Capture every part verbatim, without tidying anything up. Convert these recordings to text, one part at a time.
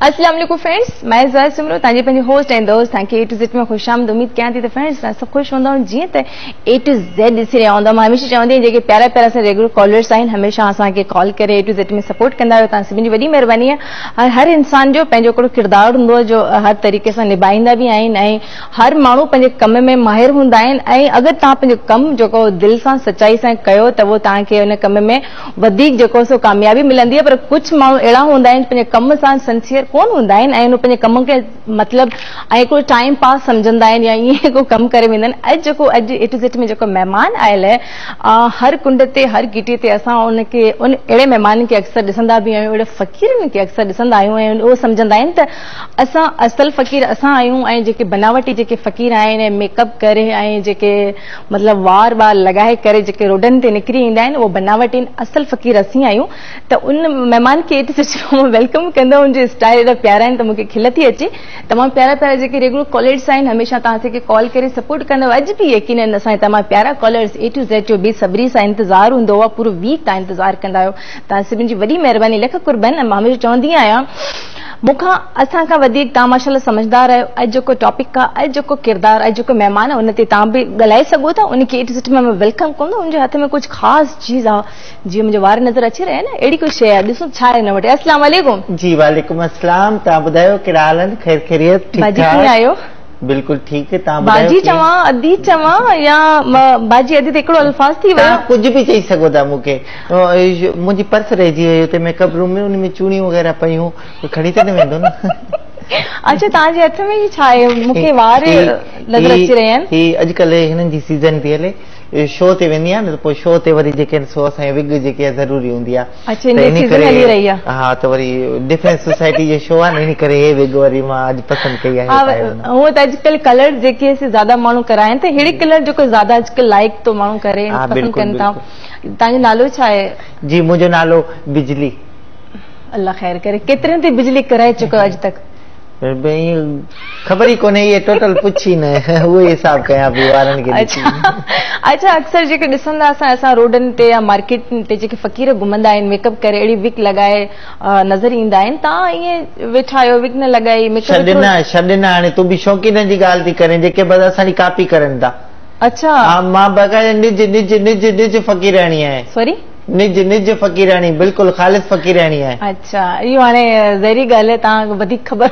अस्सलाम वालेकुम फ्रेंड्स, मैं ज़ाहिद सुमरो तव्हांजी पंहिंजी होस्ट ऐं दोस्त तव्हांखे ए टू ज़ेड में ख़ुशि आमद। उम्मीद कयां थी त फ्रेंड्स तव्हां सभु ख़ुशि हूंदा जीअं त ए टू ज़ेड ॾिसी रहिया हूंदा। मां हमेशह चवंदी आहियां जेके प्यारा प्यारा असां रेगुलर कॉलर्स आहिनि हमेशह असांखे कॉल करे ए टू ज़ेड में सपोर्ट कंदा आहियो। तव्हां सभिनी जी वॾी महिरबानी आहे। हर इंसान जो पंहिंजो हिकिड़ो किरदारु हूंदो आहे जो हर तरीक़े सां निभाईंदा बि आहिनि ऐं हर माण्हू पंहिंजे कम में माहिर हूंदा आहिनि ऐं अगरि तव्हां पंहिंजो कमु जेको दिलि सां सचाई सां कयो त उहो तव्हांखे उन कम में वधीक जेको सो कामयाबी मिलंदी आहे। पर कुझु माण्हू अहिड़ा हूंदा आहिनि पंहिंजे कम सां सिंसियर कोन हूंदा आहिनि ऐं पंहिंजे कम खे मतिलबु ऐं हिकिड़ो टाइम पास सम्झंदा आहिनि या ईअं को कमु करे वेंदा आहिनि। अॼु जेको अॼु ए टू ज़ेड में जेको महिमान आयल आहे, हर कुंड ते हर गिटी ते असां उनखे उन अहिड़े महिमान खे अक्सर ॾिसंदा बि आहियूं, अहिड़े फ़क़ीरनि खे अक्सर ॾिसंदा आहियूं ऐं उहो सम्झंदा आहिनि त असां असल फ़क़ीर असां आहियूं ऐं जेके बनावटी जेके फ़क़ीर आहिनि ऐं मेकअप करे ऐं जेके मतिलबु वार वार लॻाए करे जेके रोडनि ते निकिरी ईंदा आहिनि उहो बनावटी आहिनि, असल फ़क़ीर असीं आहियूं। त उन महिमान खे ए टू ज़ेड में welcome कंदो। उनजो स्टाइल एॾा प्यारा आहिनि त मूंखे खिल थी अचे। तमामु प्यारा प्यारा जेके रेगुलर कॉलर्स आहिनि हमेशह तव्हां असांखे कॉल करे सपोर्ट कंदव। अॼु बि यकीनन असांजा तमामु प्यारा कॉलर्स ए टू ज़ेड जो बेसब्री सां इंतज़ारु हूंदो आहे, पूरो वीक तव्हां इंतज़ारु कंदा आहियो। तव्हां सभिनी जी वॾी महिरबानी, लख कुर्बन। मां हमेशह चवंदी आहियां मूंखां असां खां वधीक तव्हां माशाअल्लाह सम्झदार आहियो। अॼु जेको टॉपिक आहे, अॼु जेको किरदारु, अॼु जेको महिमान आहे उन ते तव्हां बि ॻाल्हाए सघो था। उनखे ए टू ज़ेड में मां welcome कंदो। उनजे हथ में कुझु ख़ासि चीज़ आहे, जीअं मुंहिंजो वार नज़र अची रहिया आहिनि, अहिड़ी कोई शइ आहे। ॾिसो छा आहे हिन वटि। अस्सलाम वालेकुम। जी वालेकुम अस्सलाम। तव्हां ॿुधायो कहिड़ा हाल आहिनि? ख़ैर ख़ैरियत? ठीक बाजी कीअं आहियो? बिल्कुल ठीक है। तव्हां ॿुधायो? बाजी चवां, अदी चवां या बाजी अदी त हिकिड़ो अल्फ़ाज़ थी वियो। कुझु बि चई सघो था। मूंखे मुंहिंजी पर्स रहिजी वई हुते मेकअप रूम में, उन में चूड़ियूं वग़ैरह पयूं, खणी त न वेंदो न। अच्छा, तव्हांजे हथ में छा आहे? मूंखे वार नज़र अची रहिया आहिनि। ही अॼुकल्ह हिननि जी सीज़न थी हले, शो ते वेंदी आहियां न त पोइ शो ते वरी जेके आहिनि सो असांजी विग जेकी आहे ज़रूरी हूंदी आहे। अच्छा, इन सीज़न हली रही आहे। हा, त वरी डिफेंस सोसाइटी जो शो आहे न, इन करे हे विग वरी मां अॼु पसंदि कई आहे। हूअं त अॼुकल्ह कलर जेके ज़्यादा माण्हू कराइनि त अहिड़े कलर जेको ज़्यादा अॼुकल्ह लाइक थो माण्हू करे, पसंदि कनि था। तव्हांजो नालो छा आहे? जी मुंहिंजो नालो बिजली। अल्लाह ख़ैर करे। केतिरनि ते बिजली कराए चुको अॼु तक? ख़बर ई कोन्हे, इहे टोटल पुछी न, उहो हिसाब कयां पई वारनि खे। अच्छा अच्छा, अक्सर जेके ॾिसंदा असां असां रोडनि ते या मार्केट ते जेके फ़क़ीर घुमंदा आहिनि मेकअप करे अहिड़ी विग लॻाए नज़र ईंदा आहिनि, तव्हां ईअं वेठा आहियो विग न लॻाई मेकअप? छॾ न, छॾ न, हाणे तूं बि शौक़ीननि जी ॻाल्हि थी करें जेके बसि असांजी कॉपी करनि था। अच्छा, हा, मां बाक़ाइदा निज निज निज निज फ़क़ीराणी आहियां। सॉरी, निज निज फ़क़ीराणी, बिल्कुलु ख़ालिस फ़क़ीराणी आहे। अच्छा, इहो हाणे ज़हरी ॻाल्हि आहे, तव्हांखे वधीक ख़बर।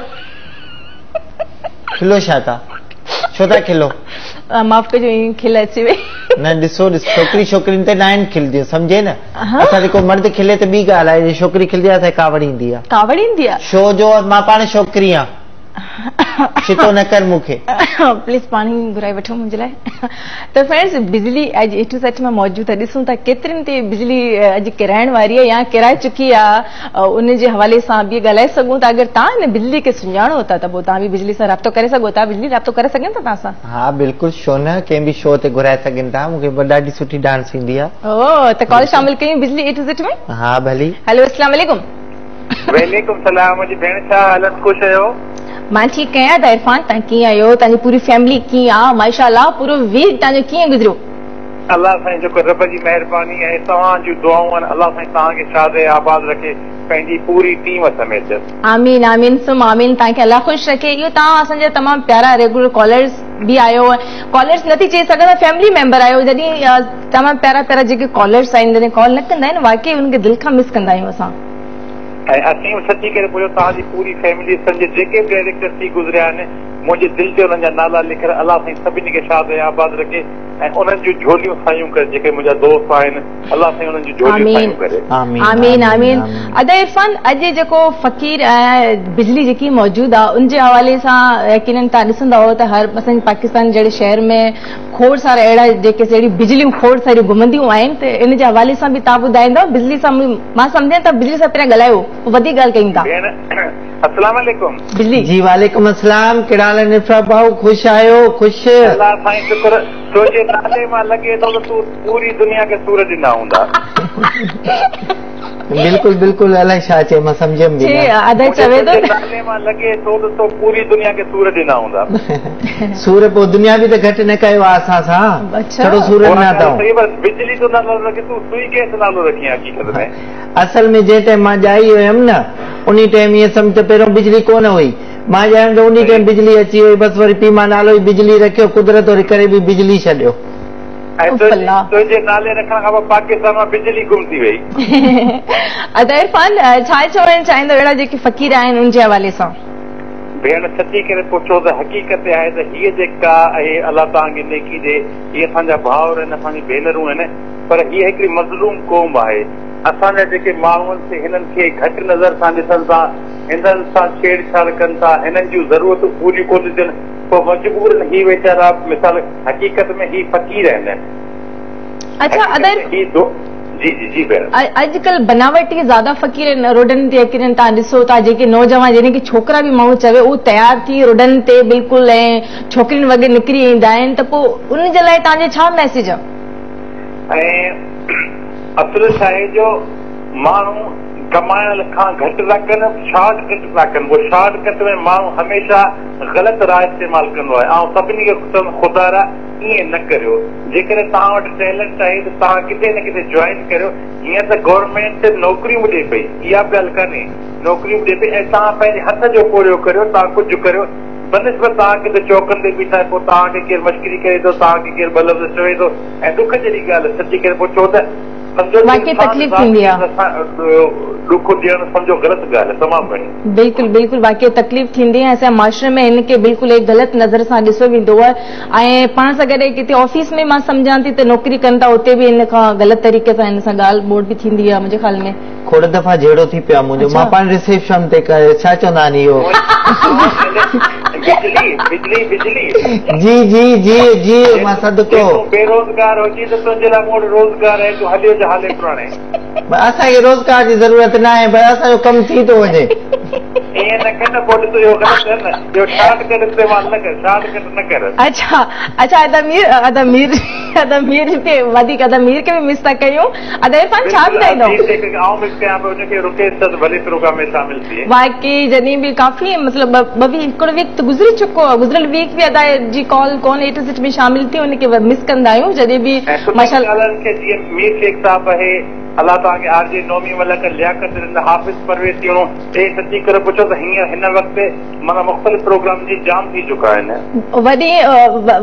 खिलो छा था? छो था खिलो? माफ़ कजो, ईअं खिल अची वई। न ॾिसो, छोकिरी छोकिरियुनि ते न आहिनि खिलदियूं, सम्झे न। असां जेको मर्द खिले त ॿी ॻाल्हि आहे, छोकिरी खिलदी आहे असांखे कावड़ ईंदी आहे। कावड़ ईंदी आहे? छो जो मां पाण छोकिरी आहियां। छितो न कर मूंखे। प्लीज़ पाणी घुराए वठो मुंहिंजे लाइ। त फ्रेंड्स, बिजली अॼु ए टू ज़ेड में मौजूदु आहे। ॾिसूं था केतिरनि ते बिजली अॼु किराइण वारी आहे या किराए चुकी आहे, उन जे हवाले सां बि ॻाल्हाए सघूं था। अगरि तव्हां हिन बिजली खे सुञाणो था त पोइ तव्हां बि बिजली सां राब्तो करे सघो था। बिजली राब्तो करे सघनि था तव्हां सां? हा बिल्कुलु, छो न, कंहिं बि शो ते घुराए सघनि था। मूंखे ॾाढी सुठी डांस ईंदी आहे। ओ, त कॉल शामिल कयूं बिजली ए टू ज़ेड में? हा भली। हेलो, अस्सलाम वालेकुम। वालेकुम सलाम। मुंहिंजी भेण, छा हालत? ख़ुशि आहियो? मां ठीकु आहियां। त इरफान, तव्हां कीअं आहियो? तव्हांजी पूरी फैमिली कीअं आहे? माशाअल्लाह, पूरो वीक तव्हांजो कीअं गुज़रियो? अल्लाह साईं जेको रब जी महिरबानी ऐं तव्हांजूं दुआऊं आहिनि, अल्लाह साईं तव्हांखे शाद आबाद रखे पंहिंजी पूरी टीम समेत। आमीन आमीन सुम आमीन। तव्हांखे अल्लाह ख़ुशि रखे। इहो तव्हां असांजा तमामु प्यारा रेगुलर कॉलर्स बि आहियो, कॉलर्स नथी चई सघां, फैमिली मेंबर आहियो। जॾहिं तमामु प्यारा प्यारा जेके कॉलर्स आहिनि, जॾहिं कॉल न कंदा आहिनि, वाकई उनखे दिलि खां मिस कंदा आहियूं असां। ऐं असीं सची करे पुछो, तव्हांजी पूरी फैमिली संजे जेके बि डायरेक्टर थी गुज़रिया आहिनि, मुंहिंजे दिलि ते उन्हनि जा नाला लिखियल। अल्लाह साईं सभिनी खे शाद आबाद रखे ऐं उन्हनि जूं झोलियूं सायूं करे, जेके मुंहिंजा दोस्त आहिनि, अल्लाह साईं उन्हनि जूं झोलियूं सायूं करे। आमीन आमीन। अदा इरफान, अॼु जेको फ़क़ीर ऐं बिजली जेकी मौजूदु आहे उनजे हवाले सां यकीनन तव्हां ॾिसंदा हो त हर असांजे पाकिस्तान जहिड़े शहर में खोड़ सारा अहिड़ा जेके अहिड़ी बिजलियूं खोड़ सारियूं घुमंदियूं आहिनि, त इन जे हवाले सां बि तव्हां ॿुधाईंदव? बिजली सां मां सम्झां त बिजली सां पहिरियां ॻाल्हायो, पोइ वधीक ॻाल्हि कयूं था। अस्सलाम वालेकुम। बिजली जी वालेकुम अस्सलाम। कहिड़ा हाल आहिनि इरफान भाऊ? ख़ुशि आहियो? ख़ुशि? अल्लाह साईं शुक्र। तुंहिंजे नाले मां लॻे थो त तूं पूरी दुनिया खे सूर ॾिना हूंदा। बिल्कुल बिल्कुल अलाए छा चए मां सम्झियमि बि न। अदा चवे थो नाले मां लॻे थो त तो पूरी दुनिया खे सूर ॾिना हूंदा। सूर पोइ दुनिया बि त घटि न कयो आहे असां सां, छड़ो सूर ॾिना अथऊं। पर बिजली जो नालो रखे तूं सुई गैस नालो रखी हक़ीक़त में। असल में जंहिं टाइम मां ॼाई हुयमि न उन टाइम ईअं सम्झ त पहिरियों बिजली कोन हुई, मां ॼायमि त उन टाइम बिजली अची वई, बसि वरी पीउ मां नालो ई बिजली रखियो, कुदरत वरी करे बि बिजली छॾियो। तुंहिंजे नाले रखण खां पोइ पाकिस्तान मां बिजली गुम थी वई। अदा इरफान छा चवणु चाहींदो अहिड़ा जेके फ़क़ीर आहिनि उनजे हवाले सां? भेण सची करे पुछो त हक़ीक़त आहे त हीअ जेका आहे अलाह तव्हांखे नेकी ॾे, हीअ असांजा भाउर आहिनि, असांजी भेनरूं आहिनि, पर हीअ हिकिड़ी मज़लूम क़ौम आहे। असांजा जेके माण्हू आहिनि से हिननि खे घटि नज़र सां ॾिसनि था, हिननि सां छेड़छाड़ कनि था, हिननि जूं ज़रूरतूं पूरियूं कोन थियनि, पोइ मजबूर ही वीचारा मिसाल हक़ीक़त में ही फ़क़ीर आहिनि। अच्छा अदर जी जी जी भेण, अॼुकल्ह बनावटी ज़्यादा फ़क़ीर रोडनि ते अची वञनि। तव्हां ॾिसो था जेके नौजवान यानी की छोकिरा बि माण्हू चवे उहो तयारु थी रोडनि ते बिल्कुलु ऐं छोकिरियुनि वग़ैरह निकिरी ईंदा आहिनि, त पोइ उन जे लाइ तव्हांजो छा मैसेज आहे? ऐं असुलु छा आहे जो माण्हू कमाइण खां घटि था कनि, शॉर्टकट था कनि, उहो शॉर्टकट में माण्हू हमेशह ग़लति राह इस्तेमालु कंदो आहे। ऐं सभिनी खे चवंदुमि ख़ुदारा ईअं न करियो, जेकॾहिं तव्हां वटि टैलेंट आहे त तव्हां किथे न किथे जॉइन करियो। हीअं त गवर्नमेंट नौकरियूं बि ॾिए पई, इहा बि ॻाल्हि कान्हे, नौकरियूं बि ॾिए पई ऐं तव्हां पंहिंजे हथ जो पोरियो करियो, तव्हां कुझु करियो, बनिस्बत तव्हां किथे चौकनि ते बीठा पोइ तव्हांखे केरु मश्किरी करे थो, तव्हांखे केरु ॿ लफ़्ज़ चवे थो, ऐं ॾुख जहिड़ी ॻाल्हि सची करे पुछो त सम्झो वाकई तकलीफ़ थींदी आहे, ॾुख ॾियणु सम्झो ग़लति ॻाल्हि आहे तमामु घणी। बिल्कुलु बिल्कुलु वाकई तकलीफ़ थींदी आहे। असांजे माशरे में हिनखे बिल्कुलु हिकु ग़लति नज़र सां ॾिसो वेंदो आहे ऐं पाण सां गॾु किथे ऑफिस में मां सम्झां थी त नौकिरी कनि था उते बि हिन खां ग़लति तरीक़े सां हिन सां ॻाल्हि ॿोल बि थींदी आहे। मुंहिंजे ख़्याल में खोड़ दफ़ा जहिड़ो थी पियो आहे मुंहिंजो, मां पाण रिसेप्शन ते छा चवंदा आहिनि इहो बिजली बिजली बिजली जी जी जी जी मां सदको बेरोज़गार हुजी त तुंहिंजे लाइ मूं वटि रोज़गार आहे, तूं हलियो जा हाले पुराणे। असांखे रोज़गार जी ज़रूरत न आहे, पर असांजो कमु थी थो वञे। ईअं न कर न पोइ ॾिस इहो ग़लति आहे न, इहो शॉर्टकट इस्तेमालु न कर, शॉर्टकट न कर। अच्छा अच्छा अदा मीर अदा मीर अदा मीर ते वधीक अदा मीर खे बि मिस था कयूं। अदा इरफान छा ॿुधाईंदो? आउं मिस कयां पियो हुनखे, रुकेश त भले प्रोग्राम में शामिल थिए। वाकई जॾहिं बि काफ़ी मतिलबु ॿ वीक हिकिड़ो वीक त गुज़री चुको आहे, गुज़िरियल वीक बि अदा जी कॉल कोन ए टू ज़ेड में शामिल थी, हुनखे मिस कंदा आहियूं जॾहिं बि माशाअल्लाह। खे जीअं मीर शेख साहिबु आहे, अलाह तव्हांखे आर जे नौमी मलक लियाकत हाफ़िज़ परवेज़ तीणो, हे सची करे पुछो त हींअर हिन वक़्तु माना मुख़्तलिफ़ प्रोग्राम जी जाम थी चुका आहिनि। वॾी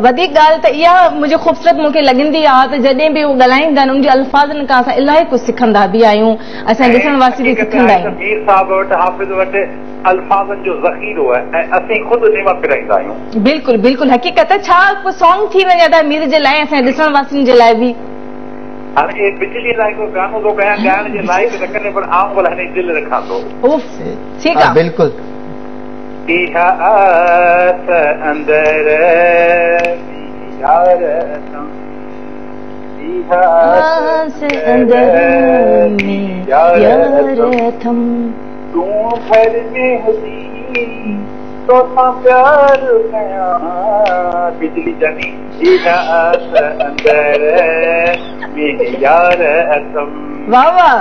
वधीक ॻाल्हि त इहा मुंहिंजी ख़ूबसूरत मूंखे लॻंदी आहे त जॾहिं बि उहो ॻाल्हाईंदा आहिनि उनजे अल्फ़ाज़नि खां असां इलाही कुझु सिखंदा बि आहियूं, असां ॾिसण वास्ते बि सिखंदा आहियूं। मीर साहिब वटि हाफ़िज़ वटि अल्फ़ाज़नि जो ज़ख़ीरो आहे ऐं असीं ख़ुदि उन मां फिराईंदा आहियूं। बिल्कुलु बिल्कुलु हक़ीक़त आहे। छा को सॉन्ग थी वञे अदा मीर जे लाइ, असां ॾिसण वासियुनि जे लाइ बि? हाणे इहे बिजली लाइ को गानो थो ॻायां, ॻाइण जे लाइक़ न करे, पर आउं भला हिन जी दिलि रखां थो। उफ ठीकु आहे बिल्कुलु। इहा आस अंदर यार इहा आस अंदर में यार अथम, तूं भर में हुजी तोसां प्यार कयां, बिजली जानी इहा आस अंदर में यार अथम। वाह वाह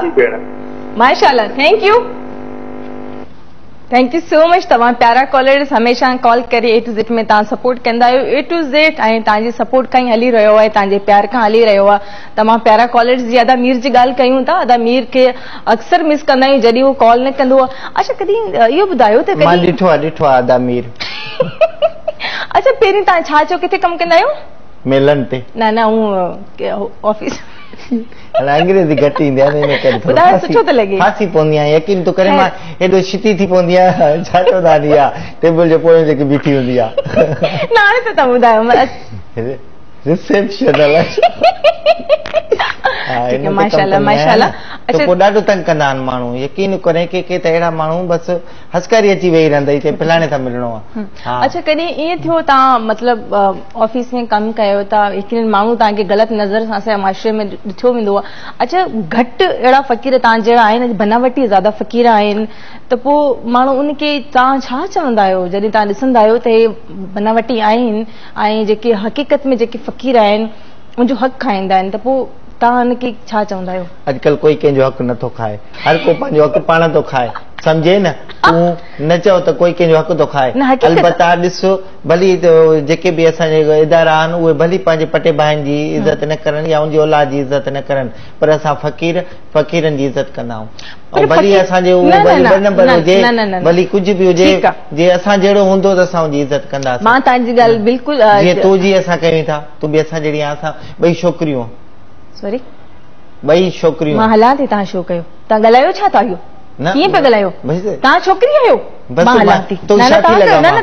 माशाअल्लाह, thank you thank you so much. तव्हां प्यारा कॉलर्स हमेशा कॉल करे ए टू ज़ेड में तव्हां सपोर्ट कंदा आहियो। ए टू ज़ेड ऐं तव्हांजे सपोर्ट खां ई हली रहियो आहे, तव्हांजे प्यार खां हली रहियो आहे। तमामु प्यारा कॉलर्स जी अदा मीर जी ॻाल्हि कयूं था, अदा मीर खे अक्सर मिस कंदा आहियूं जॾहिं उहो कॉल न कंदो आहे। अच्छा कॾहिं इहो ॿुधायो त मां ॾिठो आहे ॾिठो आहे अदा मीर। अच्छा पहिरीं तव्हां छा चयो किथे कमु कंदा आहियो? मेलनि ते। न न उहो ऑफिस अंग्रेज़ी घटि ईंदी आहे न, इन करे ॿुधायो सुठो थो लॻे, फांसी पवंदी आहे। यकीन थो करे मां एॾो छिती थी पवंदी आहे, छा चवंदा आहिनि इहा टेबल जे पोयां जेकी बीठी हूंदी आहे। न हाणे त तव्हां ॿुधायो रिसेप्शन आहे। माशाअल्लाह माशाअल्लाह। अच्छा पोइ ॾाढो तंग कंदा आहिनि माण्हू, यकीन करे के के त अहिड़ा माण्हू बसि हसकारी अची वेही रहंदा चए फलाणे सां मिलणो आहे। अच्छा कॾहिं ईअं थियो तव्हां मतिलबु ऑफिस में कमु कयो था, यकीन माण्हू तव्हांखे ग़लति नज़र सां असांजे माशरे में ॾिठो वेंदो आहे। अच्छा घटि अहिड़ा फ़क़ीर तव्हां जहिड़ा आहिनि, बनावटी ज़्यादा फ़क़ीर आहिनि, त पोइ माण्हू उनखे तव्हां छा चवंदा आहियो जॾहिं तव्हां ॾिसंदा आहियो त हे बनावटी आहिनि ऐं जेके हक़ीक़त में जेके फ़क़ीर आहिनि उनजो हक़ खाईंदा आहिनि, त पोइ तव्हां हुनखे छा चवंदा आहियो? अॼुकल्ह कोई कंहिंजो हक़ नथो खाए, हर को पंहिंजो हक़ पाण थो खाए, सम्झे न? तूं न चओ त कोई कंहिंजो हक़ थो खाए। अलबत्ता ॾिसो भली जेके बि असांजे इदारा आहिनि उहे भली पंहिंजे पटे भाइनि जी इज़त न करनि या उनजी औलाद जी इज़त न करनि, पर असां फ़क़ीर फ़क़ीरनि जी इज़त कंदा आहियूं। भली असांजे ॿ नंबर हुजे, भली कुझु बि हुजे, जे असां जहिड़ो हूंदो त असां उनजी इज़त कंदासीं। मां तव्हांजी ॻाल्हि बिल्कुलु, जीअं तूं जी असां कयूं था, तूं बि असां जहिड़ी असां ॿई छोकिरियूं, सॉरी ॿई छोकिरियूं। मां हलां थी, तव्हां शो कयो, तव्हां ॻाल्हायो छा था? इहो कीअं पिया ॻाल्हायो? तव्हां छोकिरी आहियो, मां हलां थी। तूं छा थी लॻा?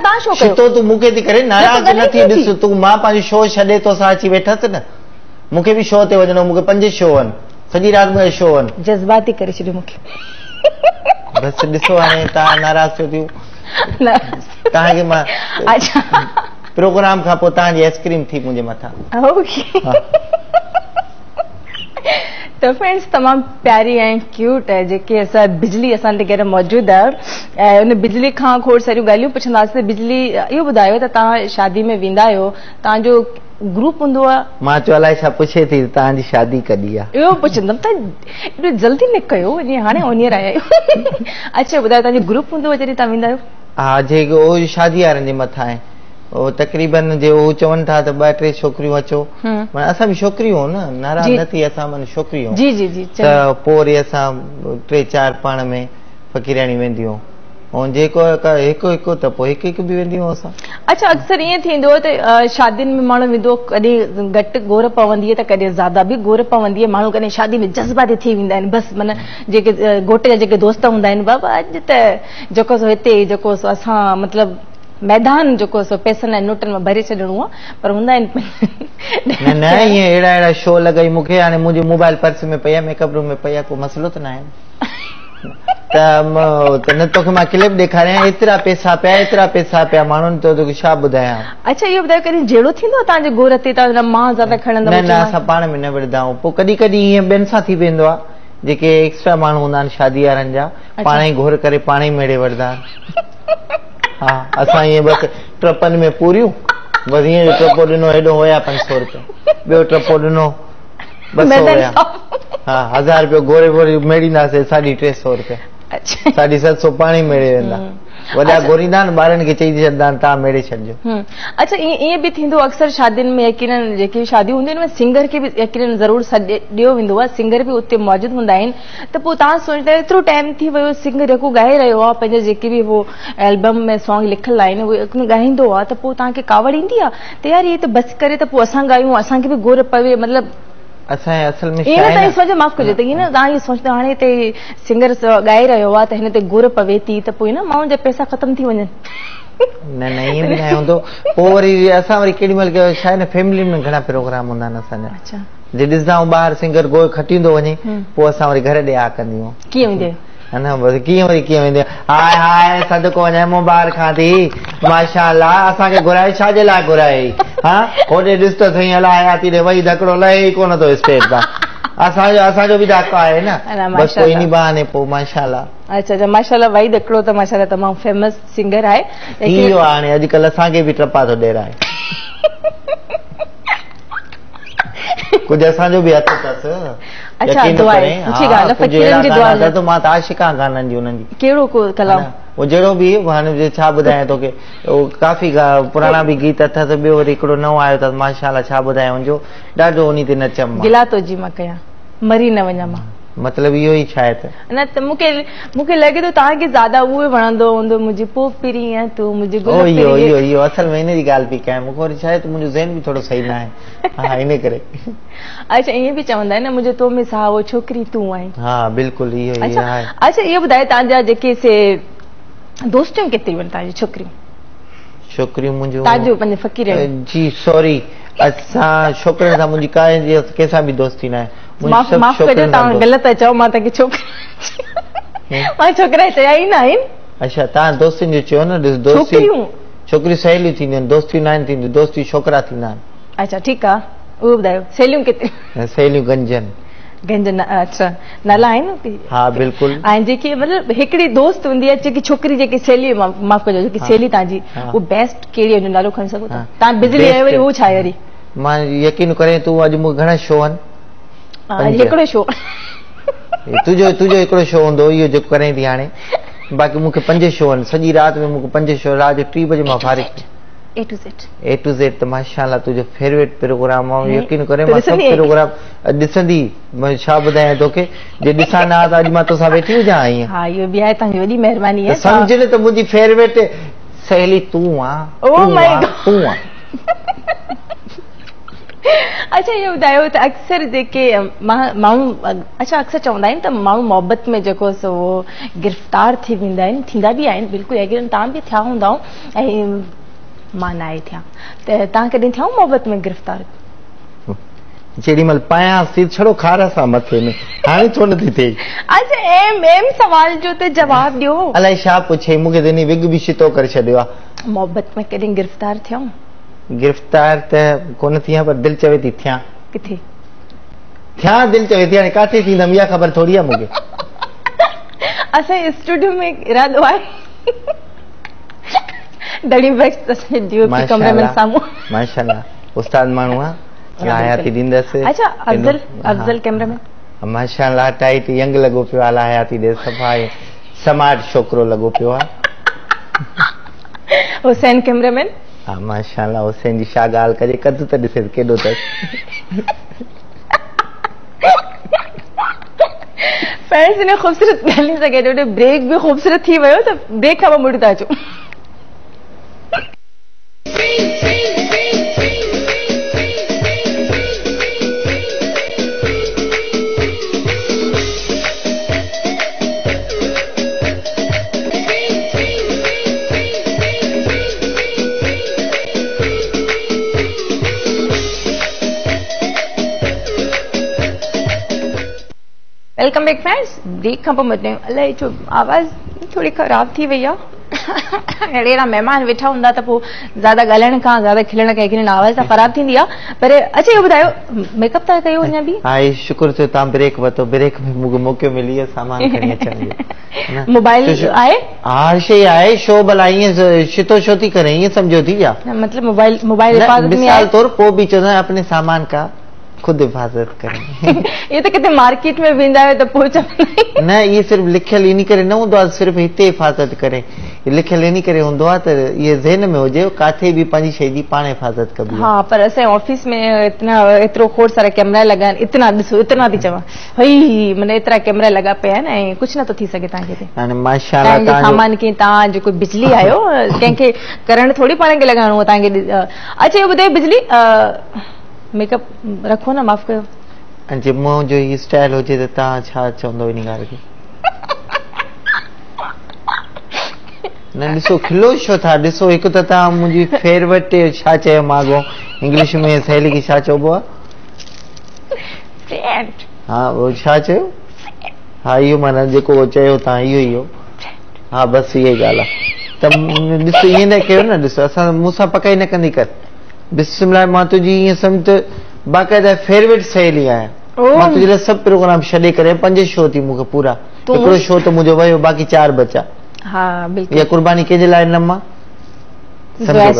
तूं मूंखे थी करे नाराज़ न थी। ॾिस तूं, मां पंहिंजो शो छॾे तोसां अची वेठसि न, मूंखे बि शो ते वञिणो, मूंखे पंज शो आहिनि, सॼी राति मुंहिंजा शो आहिनि। जज़्बाती करे छॾियो मूंखे। बसि ॾिसो हाणे तव्हां नाराज़ थियो थियूं। तव्हांखे मां अच्छा प्रोग्राम खां पोइ तव्हांजी आइसक्रीम थी मुंहिंजे मथां। ओके त फ्रेंड्स, तमामु प्यारी ऐं क्यूट जेके असां बिजली असां ते गॾु मौजूदु आहे ऐं उन बिजली खां खोड़ सारियूं ॻाल्हियूं पुछंदासीं। बिजली, इहो ॿुधायो त तव्हां शादी में वेंदा आहियो, तव्हांजो ग्रुप हूंदो आहे? मां चयो अलाए छा पुछे थी तव्हांजी शादी कॾहिं आहे, इहो पुछंदमि त एॾो जल्दी न कयो, जीअं हाणे ओनियर आया आहियो। अच्छा ॿुधायो, तव्हांजो ग्रुप हूंदो आहे जॾहिं तव्हां वेंदा आहियो? हा, जेको उहो शादी वारनि जे मथां आहे, उहो तक़रीबन जे उहो चवनि था त ॿ टे छोकिरियूं अचो, माना असां बि छोकिरियूं न, नाराज़ न थी, असां माना छोकिरियूं। जी जी जी। त पोइ वरी असां टे चारि पाण में फ़क़ीराणी वेंदियूं, ऐं जेको हिकु हिकु त पोइ हिकु हिकु बि वेंदियूं असां। अच्छा, अक्सर ईअं थींदो आहे त शादियुनि में माण्हू वेंदो, कॾहिं घटि गोर पवंदी आहे त कॾहिं ज़्यादा बि गोर पवंदी आहे। माण्हू कॾहिं शादी में जज़्बाती थी वेंदा आहिनि, बसि माना जेके घोट जा जेके दोस्त हूंदा आहिनि, बाबा अॼु त जेको सो हिते जेको सो असां मतिलबु मैदान जेको सो पैसनि ऐं नोटनि मां भरे छॾिणो आहे, पर हूंदा आहिनि न न ईअं अहिड़ा अहिड़ा शो लॻाई मूंखे। हाणे मुंहिंजी मोबाइल पर्स में पई आहे, मेकअप रूम में पई आहे, को मसइलो त न आहे त न तोखे मां क्लिप ॾेखारियां, एतिरा पैसा पिया, एतिरा पैसा पिया माण्हुनि, त तोखे छा ॿुधायां। अच्छा इहो ॿुधायो, कॾहिं जहिड़ो थींदो आहे तव्हांजे गोर ते? तव्हां मां ज़्यादा खणंदा? न न, असां पाण में न विढ़ंदा आहियूं। पोइ कॾहिं कॾहिं ईअं ॿियनि सां थी वेंदो आहे, जेके एक्स्ट्रा माण्हू हूंदा आहिनि शादी वारनि जा, पाण ई घोर करे पाण ई मेड़े वठंदा आहिनि। हा, असां ईअं बसि ट्रपनि में पूरियूं, बसि ईअं ट्रपो ॾिनो, हेॾो हुया पंज सौ रुपया, ॿियो ट्रपो ॾिनो ॿ सौ हुया, हा हज़ार रुपयो गोरे गोरे मेड़ींदासीं, साढे टे सौ रुपया, साढे सत सौ पाण ई मेड़े वेंदा। वॾा गोरींदा आहिनि, ॿारनि खे चई छॾींदा आहिनि तव्हां मेड़े छॾिजो। अच्छा, ईअं बि थींदो अक्सर शादियुनि में, यकीनन जेके शादियूं हूंदियूं आहिनि, सिंगर खे बि यकीनन ज़रूरु सॾे ॾियो वेंदो आहे, सिंगर बि उते मौजूदु हूंदा आहिनि। त पोइ तव्हां सोचंदा आहियो एतिरो टाइम थी वियो, सिंगर जेको ॻाए रहियो आहे, पंहिंजे जेके बि उहो एल्बम में सॉन्ग लिखियलु आहिनि उहे ॻाईंदो आहे, त पोइ तव्हांखे कावड़ ईंदी आहे त यार इहे त बसि करे त पोइ असां ॻायूं, असांखे बि गोर पवे? मतिलबु असां असल में ईअं न सोचो, माफ़ कजो, त ईअं न तव्हां इहो सोचंदा हाणे हिते सिंगर ॻाए रहियो आहे त हिन ते गुर पवे थी त पोइ न माण्हुनि जा पैसा ख़तमु थी वञनि। न न, ईअं बि न हूंदो। पोइ वरी असां वरी केॾी महिल छा आहे न, फैमिली में घणा प्रोग्राम हूंदा आहिनि असांजा। अच्छा, जे ॾिसंदा आहियूं ॿाहिरि सिंगर गोए खटींदो वञे, पोइ असां वरी घर ॾे आ कंदियूं। कीअं वेंदे? हा न, बसि कीअं वरी कीअं वेंदे? हाय हाय, सदको वञे मुबारक खां थी, माशाअल्लाह, असांखे घुराए छा जे लाइ घुराए? हा, होॾे ॾिस त सही, अलाए आती ॾे वही धकिड़ो लहे ई कोन थो स्टेज तां। असांजो असांजो बि धक आहे न, बसि पोइ इन बहाने पोइ माशाअल्लाह। अच्छा अच्छा, माशाअल्लाह, वही धकिड़ो त माशाअल्लाह तमामु फेमस सिंगर आहे। थी वियो आहे हाणे, अॼुकल्ह असांखे बि टपा थो ॾेराए, कुझु असांजो बि हथु अथसि। अच्छा, दुआ आहे, सुठी ॻाल्हि आहे, फ़क़ीरनि जी दुआ आहे। त मां त आशिक आहियां गाननि जी उन्हनि जी। कहिड़ो को कलाम? उहो जहिड़ो बि हाणे छा ॿुधायां तोखे, उहो काफ़ी पुराणा बि गीत अथसि, ॿियो वरी हिकिड़ो नओं आयो अथसि, माशाअल्लाह, छा ॿुधायां हुनजो, ॾाढो उन ते नचम। गिला तो जी मां कयां, मरी न वञा मां, मतिलबु इहो ई छा आहे त न त मूंखे मूंखे लॻे थो तव्हांखे ज़्यादा उहो वणंदो हूंदो, मुंहिंजी पोइ पिरीअ तूं मुंहिंजी गुल इहो इहो इहो असल में इन जी ॻाल्हि पई कयां, मूंखे वरी छा आहे त मुंहिंजो ज़हन बि थोरो सही न आहे, हा इन करे। अच्छा, ईअं बि चवंदा आहिनि न, मुंहिंजो तो में साहो छोकिरी तूं आहीं। हा बिल्कुलु इहो ई आहे। अच्छा, इहो ॿुधायो तव्हांजा जेके से दोस्तियूं केतिरियूं आहिनि तव्हांजी छोकिरियूं? छोकिरियूं मुंहिंजो तव्हांजो पंहिंजे फ़क़ीर जी, सॉरी, असां छोकिरनि सां मुंहिंजी का कंहिंसां बि दोस्ती न आहे। माफ़ माफ़ कजो, तव्हां ग़लति था चओ, मां तव्हांखे छोकिरी मां छोकिरा चया ई न आहिनि। अच्छा, तव्हां दोस्तियुनि जो चयो न, दोस्ती छोकिरियूं छोकिरियूं सहेलियूं थींदियूं आहिनि, दोस्तियूं न आहिनि थींदियूं, दोस्ती छोकिरा थींदा आहिनि। अच्छा ठीकु आहे, उहो ॿुधायो सहेलियूं केतिरियूं? सहेलियूं गंजन गंजन। अच्छा, नाला आहिनि? हा बिल्कुलु आहिनि। जेके मतिलबु हिकिड़ी दोस्त हूंदी आहे, जेकी छोकिरी जेकी सहेली, माफ़ कजो, जेकी सहेली तव्हांजी उहो बेस्ट कहिड़ी आहे, हुनजो नालो खणी सघो था? तव्हां बिजली आहियो वरी उहो छा आहे वरी? मां यकीन करे तूं अॼु मूंखे घणा शो आहिनि, हिकिड़ो शो तुंहिंजो तुंहिंजो हिकिड़ो शो हूंदो इहो जेको करे थी हाणे, बाक़ी मूंखे पंज शो आहिनि सॼी राति में, मूंखे पंज शो, राति जो टी बजे मां फ़ारिग। A to Z A to Z त माशाअल्लाह तुंहिंजो फेवरेट प्रोग्राम आहे, यकीन करे मां सभु प्रोग्राम ॾिसंदी, मां छा ॿुधायां तोखे, जे ॾिसां न त अॼु मां तोसां वेठी हुजां ईअं। हा इहो बि आहे, तव्हांजी वॾी महिरबानी आहे। सम्झ न त मुंहिंजी फेवरेट सहेली तूं आहे, ओ my God तूं आहे। अच्छा इहो ॿुधायो त अक्सर जेके माण्हू, अच्छा अक्सर चवंदा आहिनि त माण्हू मोहबत में जेको सो गिरफ़्तार थी वेंदा आहिनि, थींदा बि आहिनि बिल्कुलु, यकीन तव्हां बि थिया हूंदा ऐं मां न आहे थिया, त तव्हां कॾहिं थिया मोहबत में गिरफ़्तार? जेॾी महिल पायां थी छड़ो खार सां मथे में, हाणे छो नथी थिए? अच्छा एम एम सवाल जो त जवाब ॾियो। अलाए छा पुछे, मूंखे त इन विग बि छितो करे छॾियो आहे। मोहबत में कॾहिं गिरफ़्तार थिया? गिरफ़्तार त कोन थी आहियां, पर दिलि चवे थी थियां। किथे थियां? दिलि चवे थी, हाणे काथे थींदमि इहा ख़बर थोरी आहे मूंखे। असांजे स्टूडियो में इरादो आहे दड़ी बख्श असांजे कमरे में साम्हूं। माशाअल्लाह उस्ताद माण्हू आहे, हयाती ॾींदसि। अच्छा अफज़ल, अफज़ल कैमरा में माशाअल्लाह टाइट यंग लॻो पियो आहे, हयाती ॾे, सफ़ा स्मार्ट छोकिरो लॻो पियो आहे। हुसैन कैमरामैन हा माशाअल्लाह, हुसैन जी छा ॻाल्हि कजे, कदु त ॾिसे केॾो अथसि। फ्रेंड्स इन ख़ूबसूरत ॻाल्हियुनि सां गॾु ब्रेक बि ख़ूबसूरत थी वियो, त ब्रेक खां पोइ मुड़ी था अचूं। Welcome back friends, break खां पोइ मटियो। अलाए छो आवाज़ थोरी ख़राबु थी वई आहे, अहिड़ा अहिड़ा महिमान वेठा हूंदा त पोइ ज़्यादा ॻाल्हाइण खां ज़्यादा खिलण खां यकीन आवाज़ त ख़राबु थींदी आहे। पर अच्छा इहो ॿुधायो, मेकअप था कयो अञा बि? हा शुक्र थियो तव्हां ब्रेक वरितो, ब्रेक में मूंखे मौक़ो मिली वियो सामान खणी अचण जो। मोबाइल आहे? हा शइ आहे, शो भला ईअं छितो छो थी करे, ईअं सम्झो थी या मतिलबु मोबाइल मोबाइल हिफ़ाज़त में मिसाल तौर पोइ बि चवंदा आहिनि अपने सामान का खुद हिफाज़त करें। इहे त किथे मार्केट में वेंदा आहियो त पोइ चवंदा न, इहे सिर्फ़ लिखियलु इन करे न हूंदो आहे, सिर्फ़ हिते हिफाज़त करे, लिखियलु इन करे हूंदो आहे त इहे ज़हन में हुजे काथे बि पंहिंजी शइ जी पाण हिफाज़त कबी। हा पर असांजे ऑफिस में इतना एतिरो खोड़ सारा कैमरा लॻा आहिनि, इतना ॾिसो इतना थी चवां हई माना एतिरा कैमरा लॻा पिया आहिनि ऐं कुझु नथो थी सघे तव्हांखे हिते। हाणे माशाअल्लाह तव्हांजो सामान कीअं, तव्हां जेको बिजली आयो कंहिंखे करंट थोरी पाण खे लॻाइणो आहे तव्हांखे। अच्छा इहो ॿुधायो बिजली मेकअप रखो न, माफ़ कयो, ऐं जे मुंहिंजो हीउ स्टाइल हुजे त तव्हां छा चवंदो इन ॻाल्हि खे? न ॾिसो खिलो छो था, ॾिसो हिकु त तव्हां मुंहिंजी फेवरेट छा चयो मां अॻो इंग्लिश में सहेली खे छा चइबो आहे? फ्रेंड। हा उहो छा चयो? हा इहो माना जेको चयो तव्हां इहो ई हो। हा बसि इहा ई ॻाल्हि आहे। त ॾिसो ईअं न कयो न, ॾिसो असां मूंसां पकाई न कंदी कर, बिस्मिल्लाह मां तुंहिंजी ईअं सम्झ त बाक़ाइदा फेवरेट सहेली आहियां, मां तुंहिंजे लाइ सभु प्रोग्राम छॾे करे पंज शो थी मूंखे पूरा, हिकिड़ो शो त मुंहिंजो वियो बाक़ी चारि बचा। हा बिल्कुल, इहा कुर्बानी कंहिंजे लाइ न मां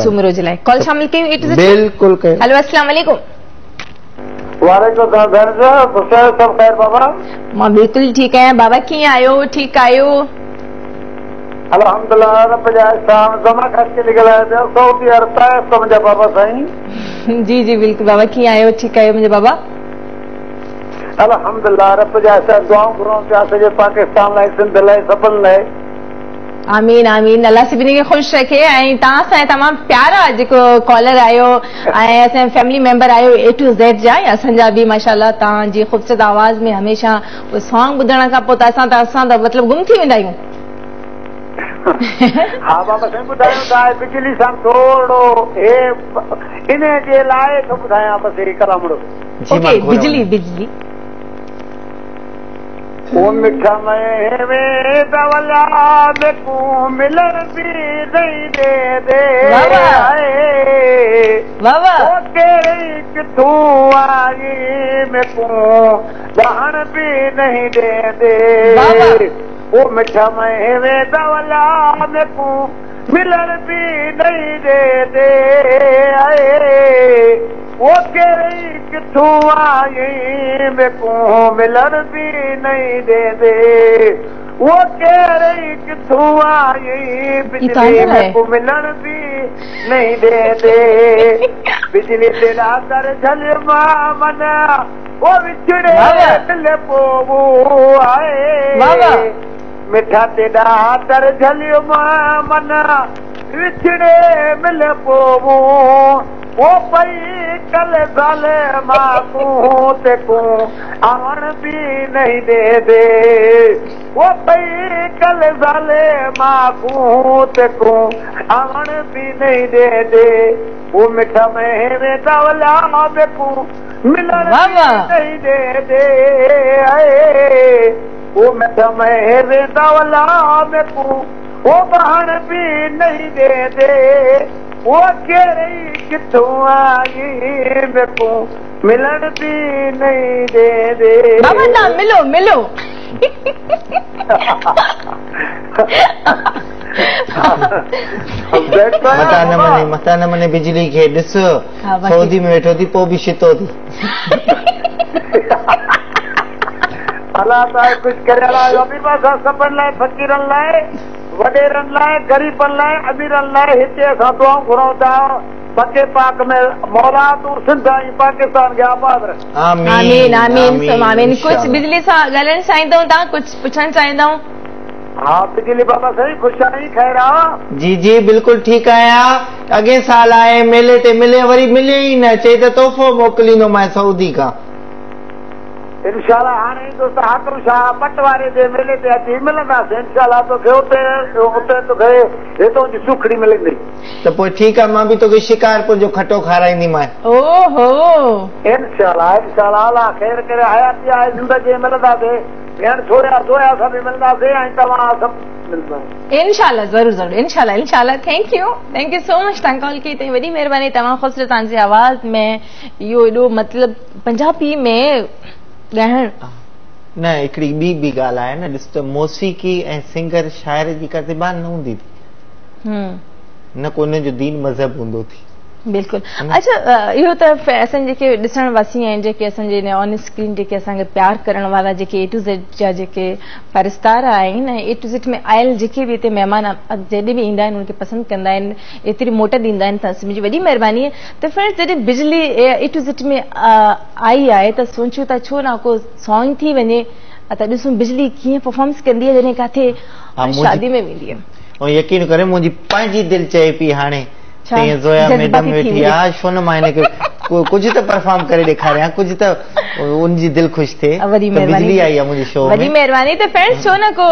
सुमरो जे लाइ। कॉल शामिल कयूं? बिल्कुलु कयो। हेलो अस्सलाम वालेकुम। वालेकुम सलाम, सभु ख़ैर बाबा? मां बिल्कुलु ठीकु आहियां बाबा, कीअं आहियो? ठीकु आहियो? अल्हम्दुलिल्लाह रब जा एहसान। ज़मा खास के ॻाल्हायां पिया सऊदी अरब ताइफ़ खां मुंहिंजा बाबा साईं। जी जी बिल्कुलु बाबा, कीअं आहियो? ठीकु आहियो मुंहिंजा बाबा? अल्हम्दुलिल्लाह रब जा एहसान, दुआऊं घुरूं पिया सॼे पाकिस्तान लाइ, सिंध लाइ, सभिनि लाइ। आमीन आमीन, अल्लाह सभिनी खे ख़ुशि रखे। ऐं तव्हां असांजा तमामु प्यारा जेको कॉलर आहियो ऐं असांजा फैमिली मेंबर आहियो ए टू ज़ेड जा, ऐं असांजा बि माशाअल्लाह तव्हांजी ख़ूबसूरत आवाज़ में हमेशा उहो सॉन्ग ॿुधण खां पोइ त असां त असां त मतिलबु गुम थी वेंदा आहियूं। हा बाबा साईं ॿुधायूं था, बिजली सां थोरो हे इन जे लाइ थो ॿुधायां बसि हे कलामड़ो। ओके बिजली बिजली ओ मिठा में वे दवला मेकू मिलन भी नहीं दे दे वाह वाह ओ केड़ी किथू आई मेकू लहण भी नहीं दे दे ओ मिठा में वे दवला मेकू मिलन भी नहीं दे दे आए ओ केड़ी किथों आई मेको मिलण बि नहीं ॾींदे, वो केरे किथों आई बिजली मेको मिलण बि नहीं ॾींदे। बिजली तेरा दर झल मां मना वो विछड़े दिल पो आए, मिठा तेरा दर झलियो मां मना विछड़े मिल पो वो पई कल ज़ाले मां को ते को आवण बि नहीं दे दे, वो पई कल ज़ाले मां को ते को आवण बि नहीं दे दे। वो मिठा में वेंदा वला मेको मिलण नहीं दे दे, वो मिठा में वेंदा वला मेको वो बहण बि नहीं दे दे, वो केरे किथों आई मेको मिलण बि नहीं दे दे। बाबा ना मिलो मिलो। मता न मने मता न मने बिजली खे ॾिस सऊदी में वेठो थी पोइ बि शितो थी। अलाह ताला कुझु करे अलाह सभिनि लाइ फ़क़ीरनि लाइ वॾेरनि लाइ ग़रीबनि लाइ अमीरनि लाइ हिते असां दुआऊं घुरूं था पके पाक में मौला तूं सिंध ऐं पाकिस्तान खे आबाद रख। आमीन आमीन आमीन। कुझु बिजली सां ॻाल्हाइणु चाहींदो तव्हां कुझु पुछणु चाहींदो? हा बिजली बाबा सही ख़ुशि आहीं? ख़ैर आहे जी जी बिल्कुलु ठीकु आहियां। अॻे साल आए मेले ते मिले वरी मिले ई न, चए त तोहफ़ो मोकिलींदोमांइ सऊदी खां। इंशाअल्लाह हाणे ईंदो त हाकम शाह पटवारे जे मेले ते अची मिलंदासीं इंशाअल्लाह। तोखे उते उते तोखे हितां जी सुखड़ी मिलंदी। त पोइ ठीकु आहे, मां बि तोखे शिकारपुर जो खटो खाराईंदीमांइ। ओहो इंशाअल्लाह इंशाअल्लाह अलाह ख़ैर करे हयाती आहे ज़िंदगी मिलंदासीं। भेण छोरिया सोया सां बि मिलंदासीं ऐं तव्हां सभु मिलंदा इंशाअल्लाह। ज़रूरु ज़रूरु इंशाअल्लाह इंशाअल्लाह। Thank you thank you so much तव्हां कॉल कई त वॾी महिरबानी। तव्हां ख़ुशि तव्हांजी आवाज़ में इहो एॾो मतिलबु पंजाबी में ॻाइण न हिकिड़ी ॿी बि ॻाल्हि आहे न, ॾिस त मौसीक़ी ऐं सिंगर शाइर जी का ज़बान न हूंदी थी, न को हुनजो दीन मज़हब हूंदो थी। बिल्कुलु। अच्छा इहो त असांजे जेके ॾिसण वासी आहिनि जेके असांजे ऑन स्क्रीन जेके असांखे प्यार करण वारा जेके ए टू ज़ेड जा जेके परस्तार आहिनि ऐं ए टू ज़ेड में आयल जेके बि हिते महिमान जॾहिं बि ईंदा आहिनि उनखे पसंदि कंदा आहिनि, एतिरी मोट ॾींदा आहिनि, त मुंहिंजी वॾी महिरबानी आहे। त फ्रेंड्स जॾहिं बिजली ए टू ज़ेड में आई आहे त सोचूं था छो न को सॉन्ग थी वञे त ॾिसूं बिजली कीअं परफॉर्मेंस कंदी आहे जॾहिं काथे शादी में वेंदी आहे। ऐं यकीन करे मुंहिंजी पंहिंजी दिलि चए पई हाणे ज़ोया मैडम वेठी आहे, छो न मां हिनखे कुझु त परफॉर्म करे ॾेखारियां, कुझु त उनजी दिलि ख़ुशि थिए। वॾी महिरबानी बिजली आई आहे मुंहिंजे शो में, वॾी महिरबानी। त फ्रेंड्स छो न को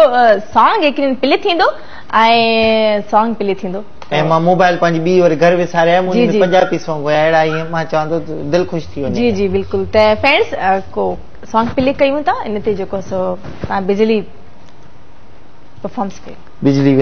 सॉन्ग हिकिड़ी प्ले थींदो ऐं सॉन्ग प्ले थींदो ऐं मां मोबाइल पंहिंजी ॿी वरी घर विसारे आया, मुंहिंजे पंजाबी सॉन्ग हुया अहिड़ा ईअं मां चवां थो दिलि ख़ुशि थी वञे। जी जी बिल्कुलु। त फ्रेंड्स को सॉन्ग प्ले कयूं था इन ते जेको सो तव्हां बिजली परफॉर्मेंस कयो। बिजली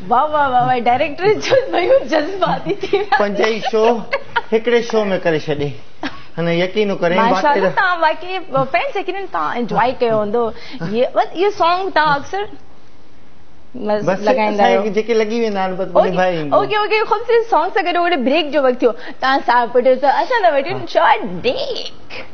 वाह वाह वाह वाह डायरेक्टर जो भयो जज्बाती थी पंज ई शो हिकिड़े शो में करे छॾे हन यकीन करे माशाअल्लाह तव्हां बाक़ी फ्रेंड्स यकीनन तव्हां एंजॉय कयो हूंदो ये बस इहो सॉन्ग तव्हां अक्सर बस लगाईंदा आहियो जेके लॻी वेंदा आहिनि बस भाई ओके ओके ख़ूबसूरत सॉन्ग सां गॾो गॾु ब्रेक जो वक़्तु थियो तव्हां साहब प्रोड्यूसर असां था वठूं short break.